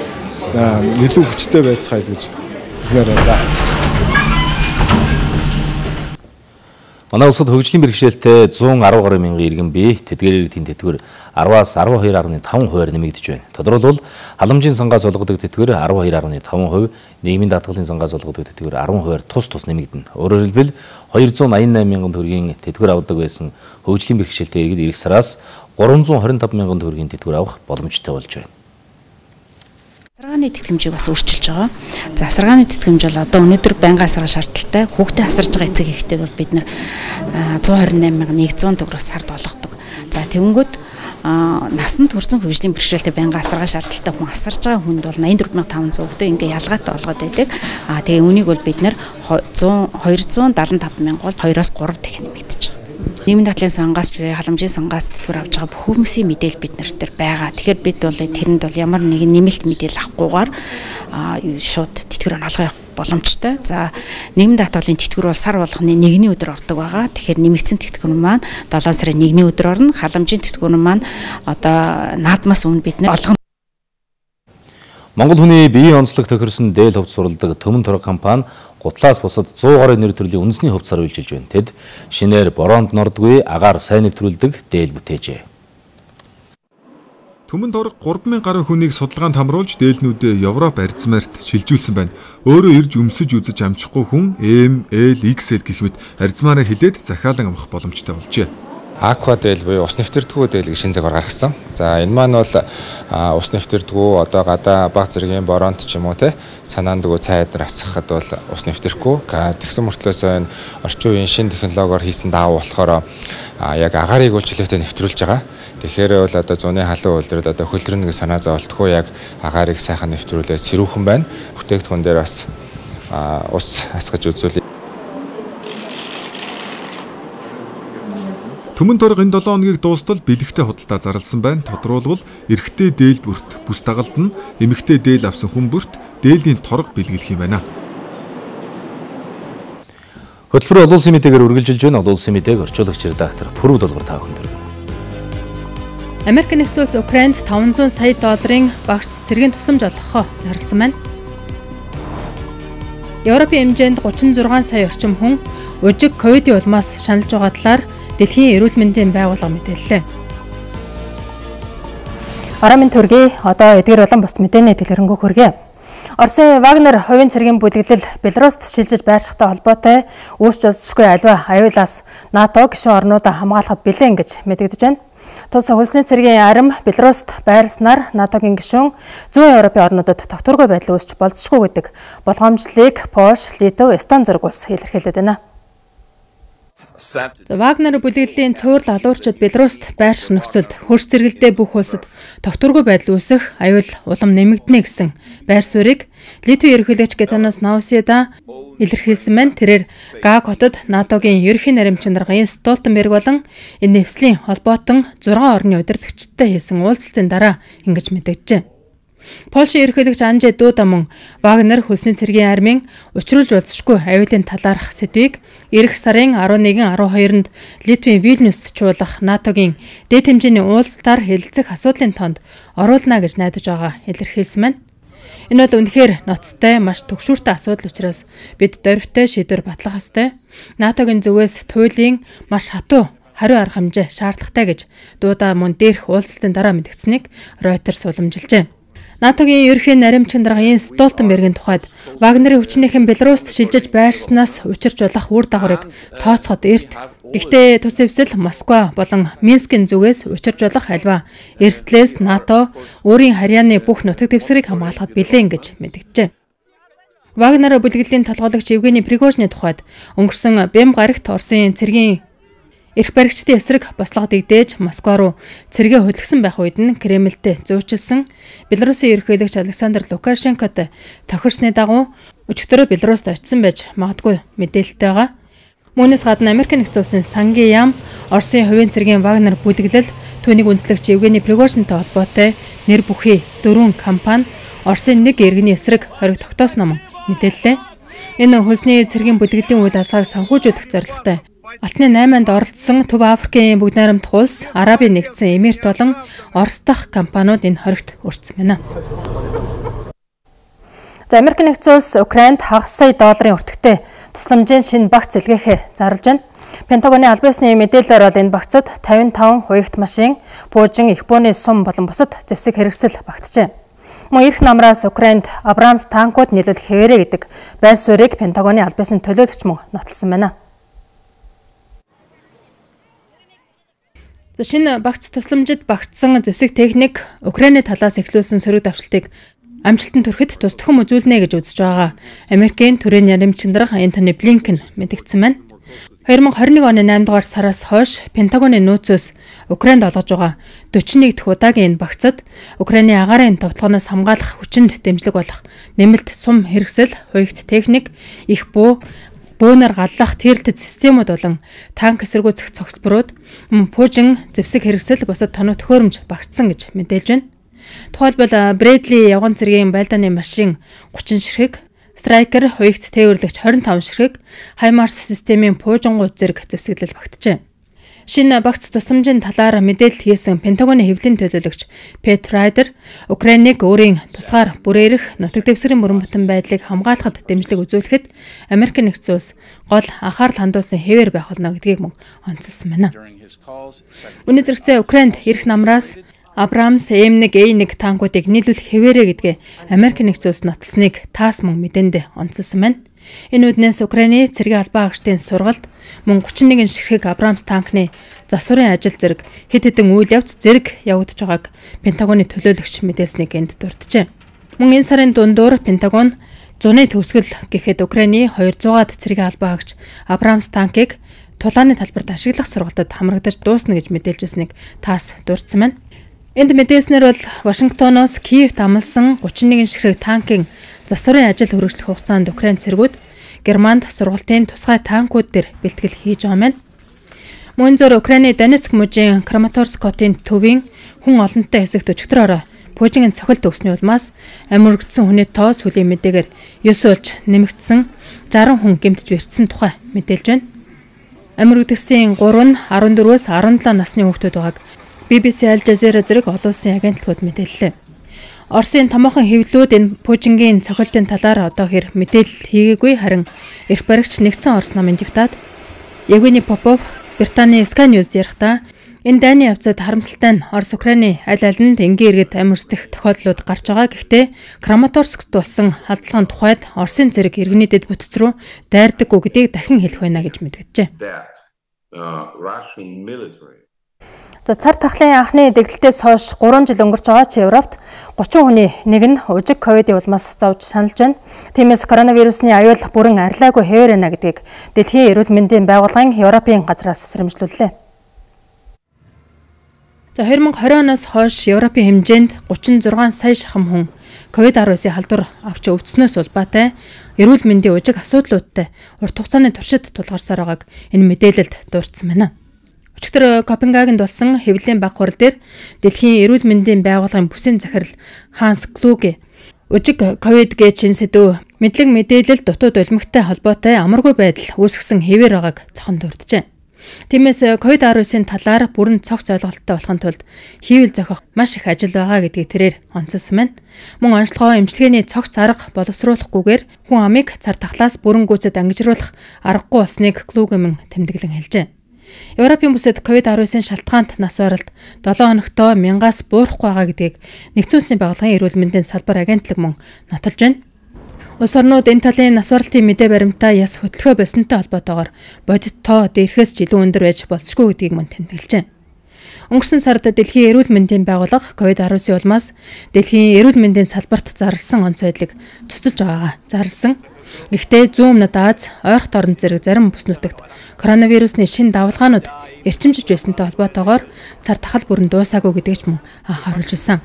илүү хүчтэй байцгаая гэж хэлмээр байна. Манай улсад хөгжлийн бэрхшээлтэй зуун арван гаруй мянган иргэн бий. Тэдгээр иргэдийн тэтгэвэр араваас арван хоёр гаруй таван хувиар нэмэгдэж байна. Тодорхойлбол халамжийн сангаас олгодог тэтгэвэр арван хоёр гаруй таван хувь, нийгмийн даатгалын сангаас олгодог тэтгэвэр арван хувиар тус тус нэмэгдэнэ. Өөрөөр хэлбэл хоёр зуун аян найман мянган төгрөгийн тэтгэвэр авдаг байсан хөгжлийн бэрхшээлтэй иргэд эх сараас гурван зуун хорин тав мянган төгрөгийн тэтгэвэр авах боломжтой болж байна. Асаргааны тэтгэмжийг бас өөрчилж байгаа. За асаргааны тэтгэмж бол одоо өнөөдөр байнгын асарга шаардлагатай. Хүүхдээ асарж байгаа эцэг эхтэй бол бид нэр зуун хорин найман мянган нэгдүгээр төгрөгөөс сард олгодог. За тэгэнгүүт насанд хүрсэн хөгжлийн бэрхшээлтэй байнгын асарга шаардлагатай хүн асарж байгаа хүнд бол найман дөрвөн мянган таван зуун хүүхдээ ингээ ялгаатай олгоод байдаг. А тэгээ үнийг бол бид нэр хоёр зуун даалан тав мянган бол хоёроос гурав дахин нэмэгдэж байгаа. Нийгмийн даатгалын сангаас ч халамжийн сангаас тэтгэвэр авч байгаа бүх хүмүүсийн мэдээлэл бид нар дээр байгаа. Тэгэхээр бид бол тэрэнд бол ямар нэгэн нэмэлт мэдээлэл авахгүйгээр шууд тэтгэвэр олгох боломжтой. За нийгмийн даатгалын тэтгэвэр бол сар болгоны нэгний өдөр ордог байгаа. Тэгэхээр нэмэгдсэн тэтгэвэр маань долоон сарын нэгний өдөр орно. Халамжийн тэтгэвэр маань одоо наадмаас өмнө бид нар олгоно. Монгол хүний биеийн онцлог тохирсон дээл хувьд суралдаг Төмөн торог компани гутлаас бусад зуун гаруй нэр төрлийн үндэсний хувцсаар үйлчилж байна. Тэд шинээр бороонд нордгүй агаар сайн нэвтрүүлдэг дээл бүтээжээ. Төмөн торог гурван мянган гаруй хүнийг судалгаанд хамруулж дээлнүүдээ Европ арзмаарт шилжүүлсэн байна. Өөрөө ирж өмсөж үзэж амжихгүй хүн эм, эл, икс эл гэх мэт арзмаараа хилээд захиалан амрах боломжтой болжээ. Аква дээл буюу ус нэвтэрдэггүй дээл гэж шинэ загвар гаргасан. За энэ маань бол ус нэвтэрдэггүй одоо гадаа баг зэргийн боронт ч юм уу те санаандгүй цайдар асахад бол ус нэвтэрэхгүй. Тэгсэн мөртлөөс энэ орчин үеийн шинэ технологиор хийсэн даав болохоор яг агаарыг бол чөлөөтэй нэвтрүүлж байгаа. Тэгэхээр бол одоо зуны халуун үйлрэл одоо хөлрөн нэг санаа зовлтгүй яг агаарыг сайхан нэвтрүүлээд сэрүүхэн байна. Бүтээгдэхүүн дээр бас ус асгаж үзүүл. Төмөн торог энэ долоо хоногийг дуустал бэлэгтэй худалдаа зарласан байна. Тодруулбал эрэгтэй дээл бүрт бүс дагалд нь эмэгтэй дээл авсан хүн бүрт дээлийн торог бэлгэлэх юм байна. Хөтөлбөр олон улсын мэдээгээр үргэлжилж байна. Олон улсын мэдээг орчуулагч редактор Пүрүү Долгор та бүхэнд хүргэнэ. Америк нэгдсэн улс Украинд таван зуун сая долларын багц цэргийн тусламж олгохоо зарласан байна. Европын хэмжээнд гучин зургаан сая орчим хүн ужиг ковидын улмаас шаналж байгаа талаар Дэлхийн эрүүл мэндийн байгууллага мэдээллээ. Арамын төргий одоо эдгээр болон бус мэдээний дэлгэрэнгүй хүргэе. Оросын Вагнер хувийн цэргийн бүлэглэл Беларуст шилжиж байршихтай холбоотой үүсч олзошгүй аливаа аюулаас НАТО гишүүн орнуудаа хамгаалахад бэлэн гэж мэдэгдэж байна. Тус хөлсний цэргийн арим Беларуст байрснаар НАТОгийн гишүүн зүүн Европын орнуудад тогтворгүй байдал үүсч болзошгүй гэдэг болгоомжлыг Польш, Литв, Эстон зэрэг улс илэрхийлээд байна. Вагнер бүлэглэлийн цуврал алуурчид Беларуст байрших нөхцөлд хөрс зэрэгэлдээ бүх улсад тогтворгүй байдал үүсэх аюул улам нэмэгдэнэ гэсэн байр суурийг Литвийн ерөнхийлөгч Гитанас Наусяда илэрхийлсэн байна. Тэрээр Гаг хотод НАТОгийн ерөнхий наримчин дарга Йенс Столтенберг болон энэ нэвслийн холбоотон зургаан орны удирдагчдтай хийсэн уулзалтын дараа ингэж мэдэгджээ. Польшийн ерөнхийлөгч Анжей Дуда мөн Вагнер хөлсний цэргийн армийн учруулж болзошгүй аюулын талаарх сэдвийг эх сарын арван нэгэн арван хоёрнд Литвийн Вильнюст чуулгах НАТОгийн дэд хэмжээний уулзалтаар хэлэлцэх асуудлын тоонд оруулна гэж найдаж байгаа илэрхийлсэн байна. Энэ бол үнэхээр ноцтой, маш түгшүүртэй асуудал учраас бид дорвитой шийдвэр батлах ёстой. НАТОгийн зүгээс туйлын маш хатуу хариу арга хэмжээ шаардлагатай гэж Дуда мөн дээрх уулзалтын дараа мэдгдсэнийг Reuters уламжилжээ. НАТОгийн ерөнхий наримчин дарга Йенс Столтенбергийн тухайд Вагнерийн хүчнийхэн Беларуст шилжиж байрснаас учирч болох үр дагаврыг тооцоход эрт. Гэхдээ тус эвсэл Москва болон Минскийн зүгээс учирч болох альва эрсдлээс НАТО өөрийн харьяаны бүх нутаг дэвсгэрийг хамгаалахад бэлэн гэж мэдэгджээ. Вагнер бүлэглэлийн толгойлагч Евгений Пригожины тухайд өнгөрсөн Бэм гарагт Оросын цэргийн эрх баригчдын эсрэг бослогод игдээж Москва руу цэргээ хөдөлгсөн байх үед нь Кремльтэй зөөчилсөн Беларусын ерөнхийлөгч Александр Лукашенкод тохирсны дагуу өчигдөрөө Беларуст очсон байж магадгүй мэдээлэлтэй байгаа. Мөнөөс гадна Америк нэгдсэн улсын сангийн яам Оросын хувийн цэргийн Вагнер бүлэглэл түүнийг үндэслэгч Евгений Пригожинтой холбоотой нэр бүхий дөрвөн компани Оросын нэг иргэний эсрэг хориг тогтоосноо мэдээллээ. Энэ хөлсний цэргийн бүлэглэлийн үйл ажиллагааг санхүүжүүлэх зорилготой Алтны найманд оролцсон Төв Африкийн бүгд найрамдах улс, Арабын нэгдсэн Эмирт болон Орос дахь компаниуд энэ хоригт өртсөн байна. За Америк нэгдсэн улс Украинд хагас сая долларын өртөгтэй тусламжийн шинэ багц илгээхээ зарлж байна. Пентагоны албан ёсны мэдээлэлээр бол энэ багцад тавин таван хуягт машин, буужин, их бууны сум болон бусад зэвсэг хэрэгсэл багтжээ. Мөн эрх намраас Украинд Абрамс танкууд нийлүүлэх хэвээрээ гэдэг байр суурийг Пентагоны албан ёсны төлөөлөгч мөн нотолсон байна. Шинэ багц тусламжид багтсан зэвсэг техник Украины талаас эхлүүлсэн сөрөг давшилтыг амжилтанд хүрэхэд тус төхөм үзүүлнэ гэж үзэж байгаа. Америкийн төрийн яримчин дарга Энтони Блинкен мэдгдсэн байна. две тысячи двадцать один оны найман дугаар сараас хойш Пентагоны нөөцөөс Украинд олгож байгаа forty-one дахь удаагийн энэ багцад Украины агаарын товтлогоноос хамгаалах хүчинд дэмжлэг болох нэмэлт сум хэрэгсэл, хуягт техник, их буу бөөнөр галлах тэрэлтэд системүүд болон танк эсэргүүцэх цогцлборууд мөн пуужин зэвсэг хэрэгсэл бусад тоног төхөөрөмж багтсан гэж мэдээлж байна. Тухайлбал Брэдли явган цэргийн байлдааны машин thirty ширхэг, Страйкер хуягт тээвэрлэгч twenty-five ширхэг, Хаймарс системийн пуужингууд зэрэг зэвсэглэл багтжээ. Шинэ багц тусламжийн талаар мэдээлэл хийсэн Пентагоны хэвлэлийн төлөөлөгч Пет Райдер Украиныг өөрийн тусгаар бүрээрэх нутаг дэвсгэрийн бүрэн бүтэн байдлыг хамгаалахад дэмжлэг үзүүлэхэд Америк нэгдсэн улс гол анхаарал хандуулсан хэвээр байх болно гэдгийг мөн онцолсон байна. Үүний зэрэгцээ Украинд эрх намраас Абрамс эм one а one танкуудыг нийлүүлэх хэвээрээ гэдгээ Америк нэгдсэн улс нотолсныг таас мөн мэдээндээ онцолсон байна. Энэ үднээс Украины цэргийн албан агштын сургалт мөн thirty-one ширхэг Абрамс танкны засварын ажил зэрэг хэд хэдэн үйл явц зэрэг явагдаж байгааг Пентагоны төлөөлөгч мэдээлсэнийг энд дурджээ. Мөн энэ сарын дундуур Пентагон зуны төгсгөл гэхэд Украины two hundred цэргийн албан агч Абрамс танкыг тулааны талбарт ашиглах сургалтад хамрагдаж дуусна гэж мэдээлж байсныг таас дурдсан байна. Энд мэдээснээр бол Вашингтоноос Киевт амлсан thirty-one ширхэг танкын засварын ажил хөрвүүлэх хугацаанд Украин цэргүүд Германд сургалтын тусгай танкууд дээр бэлтгэл хийж байгаа мэн. Мөн зөр Украины Донецк мужийн Краматорск хотын төвийн хүн олонтой хэсэгт өчигдрөөр Пуужингийн цохилт өгсөний улмаас амьургдсан хүний тоо сүлийн мэдээгээр нine болж нэмэгдсэн sixty хүн гэмтэж бэрцсэн тухай мэдээлж байна. Амьургдсан three нь fourteen-өөс seventeen насны хүүхдүүд байгааг би би си Al Jazeera зэрэг олон улсын агентлагууд мэдээллээ. Оросын томоохон хэвлэлүүд энэ Пуужингийн цохилтын талаар одоо хэр мэдээлэл хийгээгүй, харин эрх баригч нэгдсэн Орос намын депутат Евгений Попов Британий Sky News ярихдаа Энэ дайны явцад харамсалтай нь Орос Украины аль алинд энгийн иргэд амьсдах тохиолдлууд гарч байгаа. Гэхдээ Краматорскт болсон халдлагын тухайд Оросын зэрэг иргэний дэд бүтц рүү дайрдаггүй гэдгийг дахин хэлэх байна гэж мэдгэжээ. За цар тахлын анхны дэглэлтээс хойш гурван жил өнгөрч байгаа ч Европт гучин хүний нэг нь ужиг ковидын улмаас зовж шаналж байна. Тиймээс коронавирусны аюул бүрэн арилаагүй хэвээр байна гэдгийг Дэлхийн эрүүл мэндийн байгууллагын Европын газраас сэрэмжлүүллээ. За две тысячи двадцать оноос хойш Европын хэмжээнд гучин зургаан сая шахам хүн ковид дасагийн халдвар авч өвдснөөс улбаатай эрүүл мэндийн ужиг асуудлуудтай урт хугацааны туршид тулгарсаар байгааг энэ мэдээлэлд дурдсан байна. Өчигдөр Копенгагенд болсон хэвлэлийн баг хурал дээр Дэлхийн эрүүл мэндийн байгууллагын бүсийн захирал Ханс Клуге ужиг ковид гэжин сэдв мэдлэг мэдээлэл дутуу долимогтой холбоотой амаргүй байдал үүсгэсэн хэвээр байгааг цохон дурджээ. Тиймээс ковид дасагийн талаар бүрэн цогц ойлголттой болохын тулд хийвэл зохиох маш их ажил байгаа гэдгийг тэрээр онцолсон байна. Мөн онцлогоо эмчилгээний цогц арга боловсруулахгүйгээр хүн амыг цар тахлаас бүрэн гүйцэд ангижруулах аргагүй болсныг Клугемэн тэмдэглэн хэлжээ. Европын бүсэд ковид дасагийн шалтгаанд нас баралт долоо хоногтоо мянгаас буурахгүй байгаа гэдгийг Нэгдсэн улсын байгууллагын эрүүл мэндийн салбар агентлаг мөн нотолж байна. Улс орнууд энэ талын нас баралтын мэдээ баримтаа яс хөтлөхөө болсонтой холбоотойгоор бодит тоо дээрхээс ч илүү өндөр байж болцшгүй гэдгийг мөн тэмдэглэжээ. Өнгөрсөн сард Дэлхийн эрүүл мэндийн байгууллага ковид дасагийн улмаас Дэлхийн эрүүл мэндийн салбарт зарласан онц байдлыг цуцалж байгаагаа зарласан. Гэхдээ зүүн өмнөд Аз, ойрхон орон зэрэг зарим бүс нутагт коронавирусны шин давалгаанууд эрчимжиж байсантай холбоотойгоор цар тахал бүрэн дуусаагүй гэдгийг ч мөн анхааруулж байсан.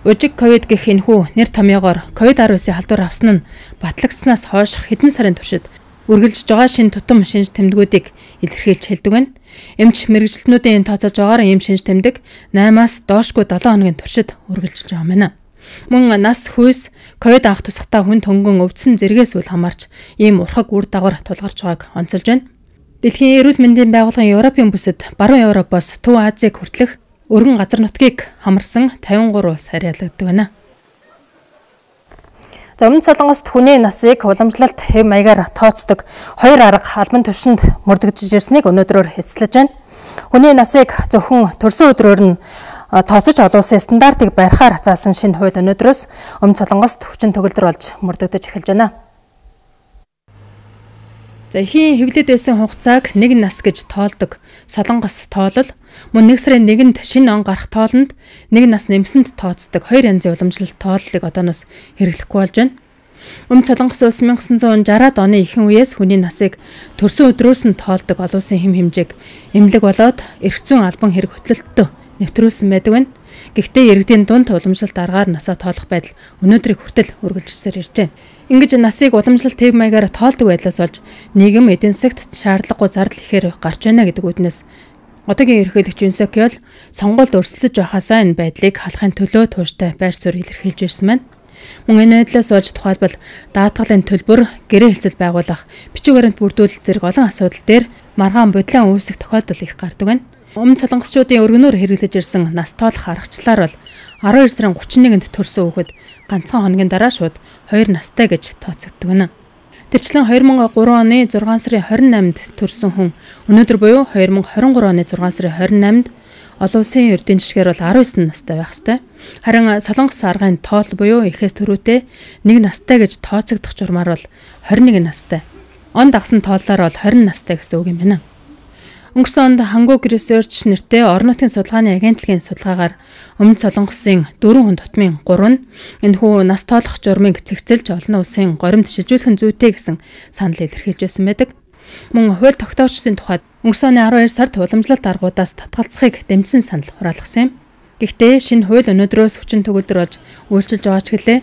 Ужиг ковид гэх энэхүү нэр томьёогоор ковид дасагийн халдвар авсан нь батлагдсанаас хойш хэдэн сарын туршид үргэлжлэж байгаа шин тутам шинж тэмдгүүдийг илэрхийлж хэлдэг байна. Эмч мэрэгчлэнүүдийн тооцоож байгаагаар ийм шинж тэмдэг наймаас доошгүй долоо хоногийн туршид үргэлжлэж байгаа юм байна. Мөн нас хүйс ковид анх тусахтаа хүн төнгөн өвдсөн зэрэгээс үл хамаарч ийм урхаг үр дагавар тулгарч байгааг онцолж байна. Дэлхийн эрүүл мэндийн байгууллагын Европын бүсэд баруун Европоос Төв Азийг хүртэлх өргөн газар нутгийг хамарсан тавин гурван улс харьяалагддаг байна. За өмнө Солонгост хүний насыг уламжлалт хэв маягаар тооцдог хоёр арга албан тушинд мөрдөгдөж ирснийг өнөөдрөөр хэсэлж байна. Хүний насыг зөвхөн төрсөн өдрөөр нь тооцож олон улсын стандартыг барихаар заасан шинэ хууль өнөөдрөөс өмнө Солонгост хүчин төгөлдөр болж мөрдөгдөж эхэлж байна. За ихийн хэвлэд байсан хугацааг нэг нас гэж тоолдог Солонгос тоолол мөн нэг сарын нэгэнд шинэ он гарах тоолонд нэг нас нэмсэнд тооцдог хоёр янзын уламжлалт тооллыг одооноос хэрэглэхгүй болж байна. Өмнө Солонгос улс 천구 шестьдесят оны ихэнх үеэс хүний насыг төрсөн өдрөөс нь тоолдог олон улсын хэм хэмжээг эмнэлэг болоод эрх зүйн албан хэрэг хөтлөлтөд нэвтрүүлсэн байдаг байна. Гэхдээ иргэдийн дунд уламжлалт аргаар насаа тоолох байдал өнөөдрийг хүртэл үргэлжилсээр иржээ. Ингэж насыг уламжлалт хэв маягаар тоолдог байдлаас болж нийгэм эдийн засагт шаардлагагүй зардал ихээр гарч байна гэдэг үднэс одоогийн ерөнхийлөгч Юн Сок Ёл сонгуульд өрсөлдөж байхасаа энэ байдлыг халахын төлөө тууштай байр суурь илэрхийлж ирсэн байна. Мөн энэ байдлаас болж тухайлбал даатгалын төлбөр, гэрээ хэлцэл байгуулах, бичиг баримт бүрдүүлэлт зэрэг олон асуудал дээр маргаан бодлон үүсэх тохиолдол их гардаг байна. Өмнө солонгосчуудын өргөнөөр хэрэглэж ирсэн нас тоолох аргачлалаар бол арван хоёр сарын гучин нэгэнд төрсөн хүүхэд ганцхан хоногийн дараа шууд хоёр настай гэж тооцогддог байна. Тэрчлэн две тысячи три оны зургаан сарын двадцать восьмид төрсэн хүн өнөөдөр буюу две тысячи двадцать три оны зургаан сарын двадцать восьмид олон улсын эрдэнэ жишгээр бол десять настай байх ёстой. Харин солонгос аргын тоол буюу эхээс төрүүтэй нэг настай гэж тооцогдох журмаар бол двадцать one настай. Он дагсан тооллоор бол twenty настай гэсэн үг юм байна. Өнгөрсөн онд Hanguk Research нэртэй орон нутгийн судалгааны агентлагийн судалгаагаар өмнө солонгосын дөрвөн хүн тутмын гурав нь энэхүү нас тоолох журмыг цэгцэлж олон улсын горимд шилжүүлэх зүйтэй гэсэн санал илэрхийлж байсан байдаг. Мөн хууль тогтоогчдын тухайд өнгөрсөн оны twelve сард уламжлалт аргуудаас татгалзахыг дэмжсэн санал хураалгасан юм. Гэхдээ шинэ хууль өнөөдрөөс хүчин төгөлдөр болж үйлчилж байгаа ч гэлээ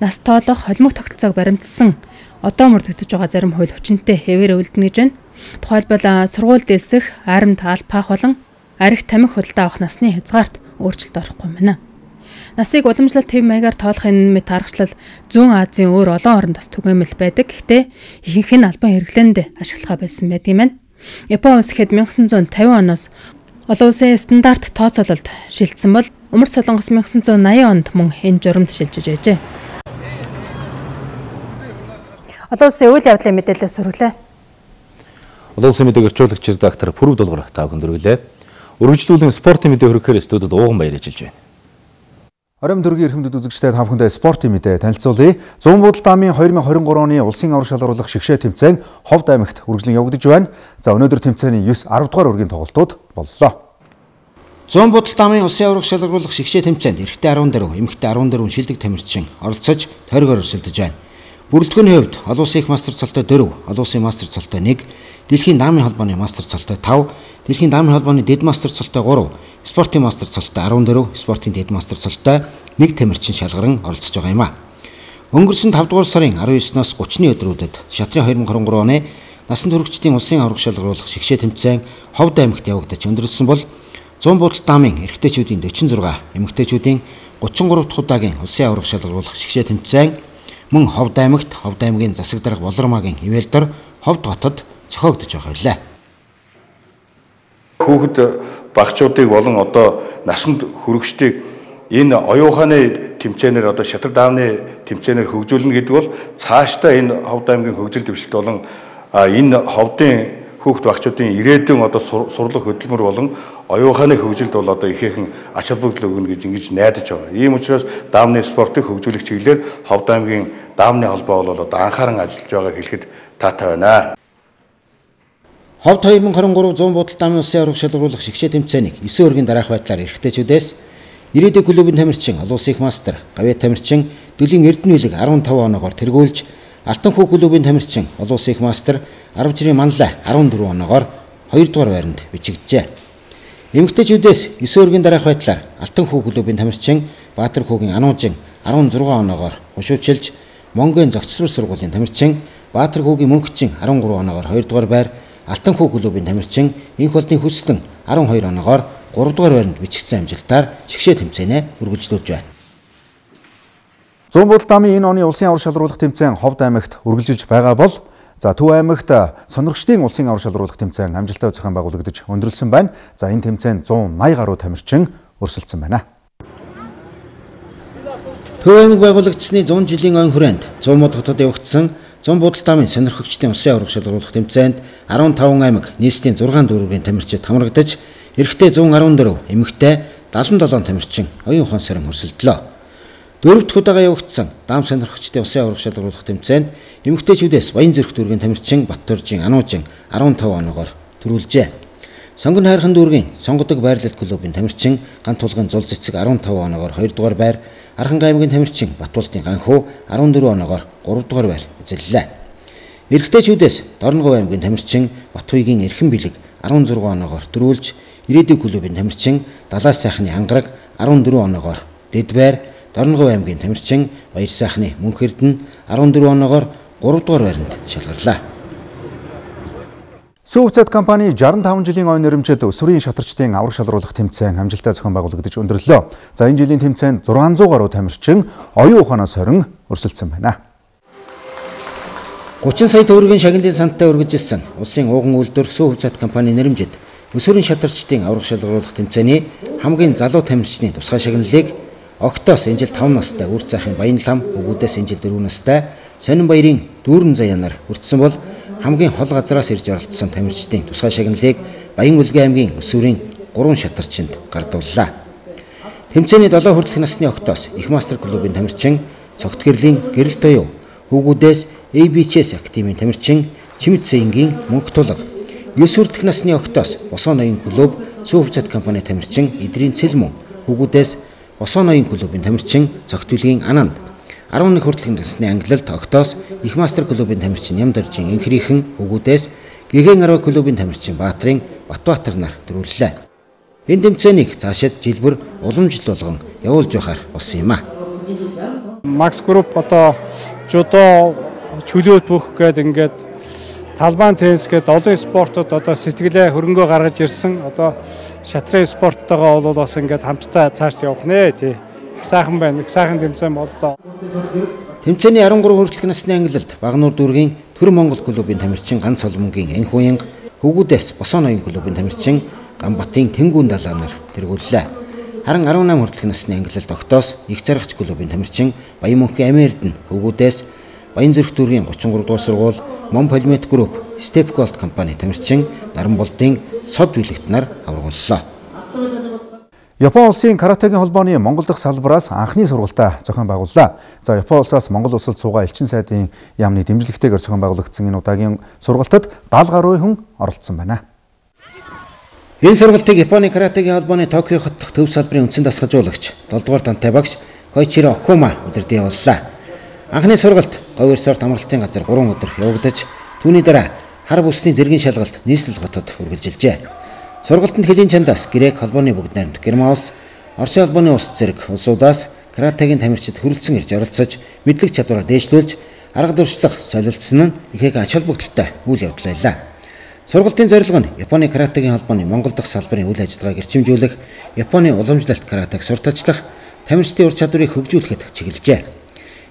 нас тоолох холимог тогтолцоог баримтсан одоо мөрдөгдөж байгаа зарим хууль хүчинтэй хэвээр үлдэнэ гэж байна. Тухайлбал сургууль дэлсэх, аримт алпаах болон арх тамхи худалдаа авах насны хязгаарт өөрчлөлт орохгүй байна. Насыг уламжлалт хэв маягаар тоолох энэ мэт аргачлал зүүн Азийн өөр олон оронд бас түгээмэл байдаг. Гэхдээ ихэнх нь албан хэрэглээнд ашиглахаа байсан байдаг юм байна. Япон улс ихэд nineteen fifty оноос олон улсын стандарт тооцоололд шилжсэн бол Умард Солонгос nineteen eighty онд мөн энэ журамд шилжиж байжээ. Олон улсын үйл явдлын мэдээлэлээс хүргэлээ. Олон улсын мэдээг орчуулагч редактор Пүрв Дулгар та бүхэнд хүргэлээ. Үргэлжлүүлэн спортын мэдээ хөрөхээр студид ууган баяр ажиллаж байна. Оройн дөргийн эрхэмдэд үзэгчдэд та бүхэндээ спортын мэдээ танилцуулъя. зүүн будал даамын две тысячи двадцать три оны улсын аврах шалгаруулах шигшээ тэмцээн Ховд аймагт үргэлжлэн явагдаж байна. За өнөөдөр тэмцээний нine ten дугаар үргийн тоглолтууд боллоо. зүүн будал даамын улсын аврах шалгаруулах шигшээ тэмцээнд эрэгтэй fourteen, эмэгтэй fourteen шилдэг тамирчин оролцож тойргоор өрсөлдөж байна. Бүрэлдэхүүний хувьд олон улсын их мастер цолтой four, олон улсын мастер цолтой one, дэлхийн даамын холбооны мастер цолтой five, дэлхийн даамын холбооны дэд мастер цолтой three, спортын мастер цолтой fourteen, спортын дэд мастер цолтой one тамирчин шалгаран оролцож байгаа юм а. Өнгөрсөн five дугаар сарын nineteen-ноос thirty-ны өдрүүдэд шатрын twenty twenty-three оны насан туршидын улсын аврах шалгаруулах шигшээ тэмцээн Ховд аймагт явагдаж өндөрлсөн бол зүүн будал даамын эрэгтэйчүүдийн forty-six, эмэгтэйчүүдийн thirty-three дахь удаагийн улсын аврах шалгаруулах шигшээ тэмцээн мөн Ховд аймагт Ховд аймгийн засаг дарга Болормагийн ивэлдор Ховд хотод зохиогдож байгаа юм. Хүүхэд багчуудыг болон одоо насанд хүрэгчдийг энэ оюуханы тэмцээнээр одоо шатар даамны тэмцээнээр хөгжүүлнэ гэдэг бол цаашдаа энэ Ховд аймгийн хөгжил дэвшилт болон энэ Ховдын хүүхэд багчуудын ирээдүйн одоо сурлах хөдөлмөр болон оюуханы хөгжилд бол одоо ихээхэн ач холбогдол өгнө гэж ингэж найдаж байгаа. Ийм учраас даамны спортыг хөгжүүлэх чиглэлээр Ховд аймгийн даамны холбоо бол одоо анхааран ажиллаж байгаа хэлэхэд таатай байна. Ховд twenty twenty-three зүүн будал даамын улсын аврах шалгаруулах шигшээ тэмцээнийг nine өргийн дараах байдлаар эрэгтэйчүүдээс ирээдүйн клубын тамирчин олон улсын их мастер Гавьяа тамирчин Дөлгийн Эрдэнэлэг fifteen оноогоор тэргүүлж Алтан хүү клубын тамирчин олон улсын их мастер Арав жирийн Манлай fourteen оноогоор two дугаар байранд бичигджээ. Эмэгтэйчүүдээс nine өргийн дараах байдлаар Алтан хүү клубын тамирчин Баатар хүүгийн Ануужин sixteen оноогоор хушуучилж, Монгийн зохицлбор сургуулийн тамирчин Баатар хүүгийн Мөнхчин thirteen оноогоор two дугаар байр, Алтан хүү клубын тамирчин Инх болдын Хүслэн twelve оноогоор three дугаар байранд бичигдсэн амжилтаар шигшээ тэмцээнээ үргэлжлүүлж байна. зүүн будал даамын энэ оны улсын аврах шалгаруулах тэмцээн Ховд аймагт үргэлжилж байгаа бол за Төв аймагт сонирхчдын улсын аврах шалгаруулах тэмцээн амжилттай зохион байгуулагдаж өндөрлсөн байна. За энэ тэмцээнд one ninety гаруй тамирчин өрсөлдсөн байна. Төв аймаг байгуулагдсны one hundred жилийн ойн хүрээнд зүүн мод хотод явагдсан зүүн будал даамын сонирхогчдын улсын аврах шалгаруулах тэмцээнд fifteen аймаг нийслэлийн six дүүргийн тамирчид хамрагдаж эрэгтэй one fourteen, эмэгтэй seventy-seven тамирчин оюун ухаан сарин өрсөлдлөө. Дөрөв дэх удаага явагдсан даам сонирхогчдын улсын аврах шалгаруулах тэмцээнд эмэгтэйчүүдээс Баян зүрх дүүргийн тамирчин Баттуржийн Ануужин fifteen оноогоор төрүүлжээ. Сонгон хайрхан дүүргийн сонгодог байрлал клубын тамирчин Гантулгын Зул цэцэг fifteen оноогоор two дугаар байр, Архангай аймгийн тамирчин Батболдын Ганхуу fourteen оноогоор three дугаар байр эзэллээ. Эрэгтэйчүүдээс Дорногов аймгийн тамирчин Батхуйгийн Эрхэн Бэлэг sixteen оноогоор төрүүлж, ирээдүйн клубын тамирчин Далаас сайхны Ангараг fourteen оноогоор дэд байр, Дорногов аймгийн тамирчин Баяр сайхны Мөнх Эрдэнэ fourteen оноогоор three дугаар байранд шалгарлаа. Сүүвцэд компани sixty-five жилийн ойн нэрмжид өсвөрийн шатарчдын аврах шалгаруулах тэмцээн амжилттай зохион байгуулагдаж өндөрлөө. За энэ жилийн тэмцээнд six hundred гаруй тамирчин оюун ухаанаас хорин өрсөлдсөн байна. thirty сая төгрөгийн шагналын санттай үргэлжилсэн улсын ууган үйлдвэр Сүүвцэд компани нэрмжид өсвөрийн шатарчдын аврах шалгаруулах тэмцээний хамгийн залуу тамирчны тусгай шагналыг Октоос энэ жил five настай үр цайхын Баян лам, өгүүдээс энэ жил four настай Сонин баярын дүүрэн заяанаар хүртсэн бол хамгийн хол газраас ирж оролцсон тамирчдын тусгай шагналыг Баян Улгийн аймгийн өсвөрийн three шатарчинд гардууллаа. Тэмцээний seven хүртэлх насны Октоос их мастер клубын тамирчин Цогт гэрлийн Гэрэл Тоёо, өгүүдээс A B C S активын тамирчин Чимэд Саингийн Мөнх тулга, nine хүртэлх насны Октоос Босоо ноён клуб Сүүвцэд компани тамирчин Идрийн Цэлмөн, өгүүдээс Босоо ноён клубын тамирчин Цогтүлгийн Ананд, eleven хүртэлх насны Англилд Октоос их мастер клубын тамирчин Нямдаржийн Инхрийнхэн, өгүүдээс Гэгэн Арва клубын тамирчин Баатрын Батбаатар нар төрүүллээ. Энэ тэмцээнийг цаашид жилбэр уламжлал болгон явуулж явахаар болсон юм а. Макс Групп одоо жудо чөлөөт бүх гээд ингээд талбайн теннис гээд олон спортод одоо сэтгэлээ хөрөнгөө гаргаж ирсэн. Одоо шатрын спорттойгоо бол бас ингээд хамтдаа цааш явах нэ тий. Их сайхан байна. Их сайхан тэмцээн боллоо. Тэмцээний thirty-three хүртэлх насны Англилд Багнуур дүүргийн Төр Монгол клубын тамирчин Ган Соломонгийн Энх уянга, өгүүдээс Босоо ноён клубын тамирчин Ганбатын Тэнгүүн далаа нар тэргүүллээ. Харин nineteen хүртэлх насны Англилд Октоос их заргач клубын тамирчин Баян Мөнхийн Амердэн, өгүүдээс Баян зүрх дүүргийн thirty-three дугаар сургууль Мон Полимет групп Step Gold компани тамирчин Наранболдын Сод Билэгт нар аврагууллаа. Япон улсын каратегийн холбооны Монгол дахь салбараас анхны сургалтаа зохион байгууллаа. За Япон улсаас Монгол улсад суугаа элчин сайдын яамны дэмжлэгтэйгээр зохион байгуулагдсан энэ удаагийн сургалтад даалга гаруй хүн оролцсон байна. Энэ сургалтыг Японы каратегийн холбооны Токио хот дахь төв салбарын үндсэн дасгалжуулагч долдугаар дантай багш Койчиро Окума удирдах явууллаа. Анхны сургалт говь resort амралтын газар гурван өдөр явагдаж түүний дараа хар бүсний зэргийн шалгалт нийслэл хотод үргэлжилжээ. Сургалтанд хэлийн чандаас грек холбооны бүгд найрамд Герман улс, Оросын холбооны улс зэрэг улсуудаас каратегийн тамирчид хүрэлцэн ирж оролцож мэдлэг чадвараа дээшлүүлж арга дуршлах солилцсон нь ихээг ач холбогдолтой үйл явдал байлаа. Сургалтын зорилго нь Японы каратегийн холбооны Монгол дахь салбарын үйл ажиллагааг эрчимжүүлэх, Японы уламжлалт каратег сурталчлах, тамирчдын ур чадварыг хөгжүүлэхэд чиглэжээ.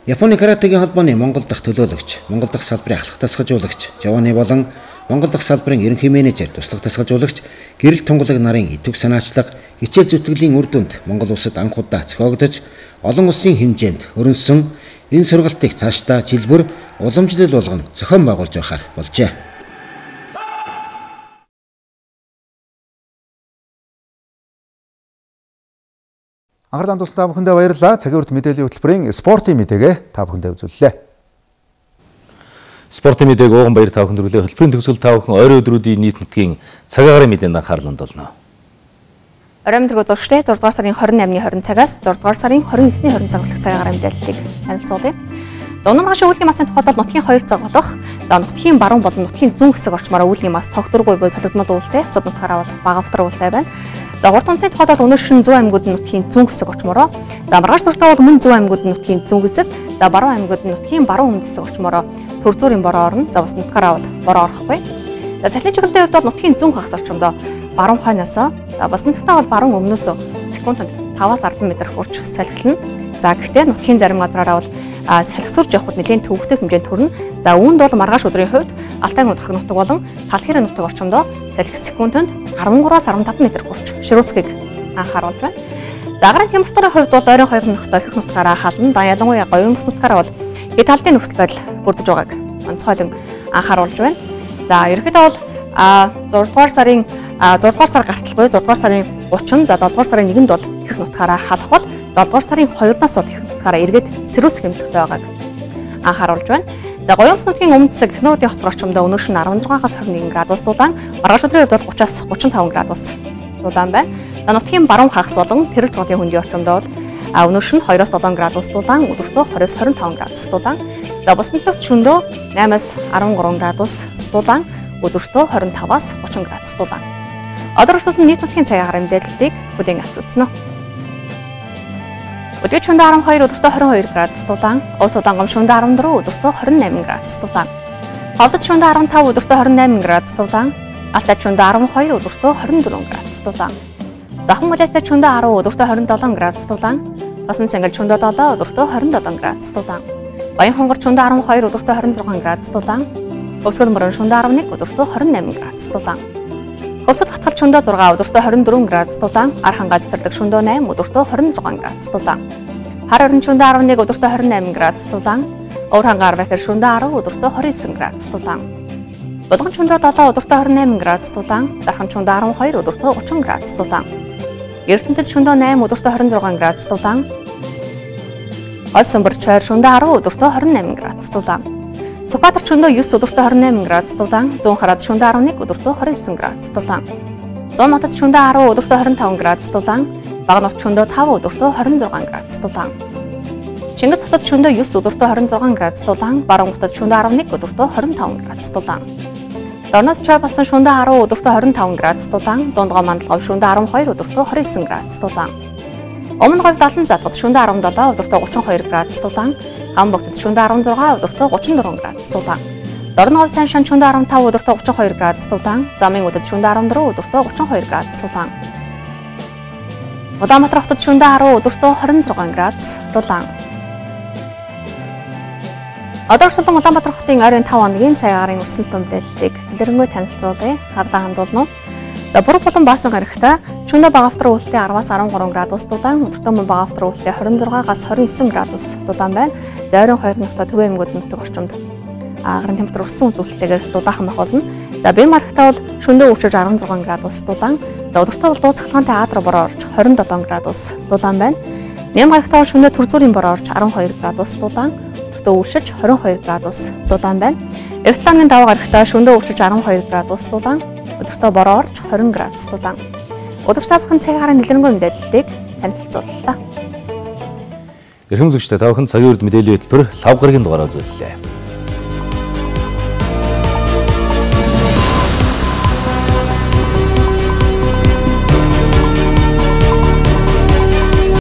Японы каратегийн холбооны Монгол дахь төлөөлөгч, Монгол дахь салбарын ахлах тасгалжуулагч Жаваны болон Монгол дахь салбарын ерөнхий менежер, туслах тасгалжуулагч, гэрэл тунгалаг нарын идэвх санаачлах, хичээл зүтгэлийн үр дүнд Монгол улсад анх удаа зохиогдож, олон улсын хэмжээнд хөрөнсөн энэ сургалтыг цаашдаа жил бүр уламжлал болгон зохион байгуулж байхаар болжээ. Анхаарлаа тусдаа бүхэндээ баярлалаа. Цагийн урт мэдээллийн хөтөлбөрийн спортын мэдээгээ та бүхэндээ үзүүллээ. Спортын мэдээг ууган баяр та бүхэнд хүргэлээ. Хөтөлбөрийн төгсгөл та бүхэн ойрын өдрүүдийн нийт нутгийн цаг агаарын мэдээнд анхаарлаа хандуулна. Оройн мэдрэг үзэгчдээ зураг дугаар сарын двадцать восьмын хорин цагаас зураг дугаар сарын двадцать девятний хорин цаг хүртэлх цаг агаарын мэдээллийг танилцуулъя. За өнөө маргааш үүлгийн масын тухайд бол нутгийн хоёр цаг болох. За нутгийн баруун болон нутгийн зүүн хэсэг орчмоор үүлгийн мас тогтворгүй буй солигдмол үүлтэй. Цод нутгаараа бол бага автар үүлтэй байна. За гурван онцны тухайд бол өнөө шин зүүн аймагуд нутгийн зүүн хэсэг орчмороо. За маргааш туртаа бол мөн зүүн аймагуд нутгийн зүүн хэсэг. За баруун аймагуд нутгийн баруун өмнөд хэсэг орчмороо төр зүүрийн бороо орно. За бас нутгаараа бол бороо орохгүй. За цахилын чиглэлийн хувьд бол нутгийн зүүн хагас орчмодоо баруун хойноос за бас нутгатаа бол баруун өмнөөс секундэд таваас арван метр хурж салхилна. За гэхдээ нутгийн зарим газраараа бол салхисурж явхад нэлээд төвөгтэй хэмжээнд төрнө. За үүнд бол маргааш өдрийн хувьд Алтай нутаг нутаг болон Талхирын нутаг орчмодоо салхис секундэд арван гураас арван таван метр хурж ширүүсгийг анхааруулж байна. За агарын температурын хувьд бол ойрын хоёр нутагт их нутгаараа хална. Да ялангуяа говийн бүс нутгаараа бол хэд талын нөхцөл байдал бүрдэж байгааг онцгойлон анхааруулж байна. За ерөнхийдөө бол зураг дугаар сарын зураг дугаар сар гартал буюу зураг дугаар сарын гучин за долоо дугаар сарын нэгэнд бол их нутгаараа халах бол долоо дугаар сарын хоёрноос бол их нутгаараа эргээд сэрүүс хэмжлэгтэй байгааг анхааруулж байна. За говийн нутгийн өмнөд хэсэг Хнуудын хот орчмодоо өнөөш нь арван зургаас хорин нэгэн градус дулаан, маргааш өдрийн хувьд бол гураваас гучин таван градус дулаан байна. За нутгийн баруун хагас болон Тэрэг цогцлын хөндийн орчмодоо бол өнөөш нь хоёроос долоон градус дулаан, өдөртөө двадцать-оос двадцать таван градус дулаан. За бус нутагт шөнөдөө eight-аас арван гурван градус дулаан, өдөртөө двадцать таваас гучин градус дулаан. Одоо өрсөлдсөн нийт нутгийн цагийн агаарын мэдээллийг бүлээн авч үзнэ. Өдөр шөнөдөө арван хоёр, өдөртөө двадцать хоёр градус дулаан, Ус Улаангом шөнөдөө арван дөрөв, өдөртөө двадцать восемь градус дулаан. Ховдод шөнөдөө арван тав, өдөртөө двадцать восемь градус дулаан, Алтайд шөнөдөө арван хоёр, өдөртөө двадцать четыре градус дулаан. Захан Малайзад шөнөдөө ten, өдөртөө двадцать seven градус дулаан, Тосон Цангал шөнөдөө seven, өдөртөө двадцать seven градус дулаан. Баян хонгор шөнөдөө twelve, өдөртөө twenty-six градус дулаан, Өвсгөл мөрөн шөнөдөө eleven, өдөртөө twenty-eight градус дулаан. Өвсөд хатгал шөнөдөө six, өдөртөө twenty-four градус дулаан, Архан газарлаг шөнөдөө eight, өдөртөө twenty-six градус дулаан. Хар орон шөнөдөө eleven, өдөртөө twenty-eight градус дулаан, Өврхан гар бахир шөнөдөө ten, өдөртөө twenty-nine градус дулаан. Булган шөнөдөө seven, өдөртөө twenty-eight градус дулаан, Дархан шөнөдөө twelve, өдөртөө thirty градус дулаан. Эрдэнэтэд шөнөдөө eight, өдөртөө twenty-six градус дулаан. Говь Сумбар чойр шөнөдөө ten, өдөртөө twenty-eight градус дулаан. Сүхбаатар шөнөдөө nine, өдөртөө twenty-eight градус дулаан, Зүүн хараад шөнөдөө eleven, өдөртөө twenty-nine градус дулаан. Зүүн хотод шөнөдөө ten, өдөртөө twenty-five градус дулаан, Бага нурт шөнөдөө five, өдөртөө twenty-six градус дулаан. Чингис хотод шөнөдөө nine, өдөртөө twenty-six градус дулаан, Баруун хотод шөнөдөө eleven, өдөртөө twenty-five градус дулаан. Дорнод чой басан шөнөдөө ten, өдөртөө twenty-five градус дулаан, Дундгой Мандалгов шөнөдөө twelve, өдөртөө twenty-nine градус дулаан. Өмнө говь Далан задгад шөнөдөө seventeen, өдөртөө thirty-two градус дулаан, Хамбогтод шөнөдөө sixteen, өдөртөө thirty-four градус дулаан. Дорн говь Сайн шан шөнөдөө five, өдөртөө thirty-two градус дулаан, Замын өдөд шөнөдөө fourteen, өдөртөө thirty-two градус дулаан. Улаанбаатар хотод шөнөдөө ten, өдөртөө twenty-six градус дулаан. Одоо өрсөлдөн Улаанбаатар хотын ойрын five хоногийн цаг агаарын өрсөлдөн мэдээллийг дэлгэрэнгүй танилцуулъя. Харлаа хандуулна. За Бург болон Баасан гарагта шөнөдөө бага автар үүлтэй ten-аас thirteen градус дулаан, өдөртөө мөн бага автар үүлтэй twenty-six-аас twenty-nine градус дулаан байна. За ойрын хоёр нутаг Төв аймагуд нутаг орчимд агаарын температур өссөн үзүүлэлтэйгээр дулаахан бах болно. За Бэм маргатаа бол шөнөдөө өчөж sixteen градус дулаан, За өдөртөө бол дуу цахилгаантай аадруу бороо орж двадцать seven градус дулаан байна. Ням гарагтаа шөнө төр зүрийн бороо орж twelve градус дулаан, өдөртөө үршиж twenty-two градус дулаан байна. Эртлааны даваа гарагтаа шөнө үршиж twelve градус дулаан, өдөртөө бороо орж twenty градус дулаан. Удагч та бүхэн цагийн хараа нэлээнгөө мэдээллийг танилцууллаа. Эрхэм үзэгчдээ та бүхэн цагийн урд мэдээллийн хөтөлбөр лав гарагийн дугаараа үзүүллээ.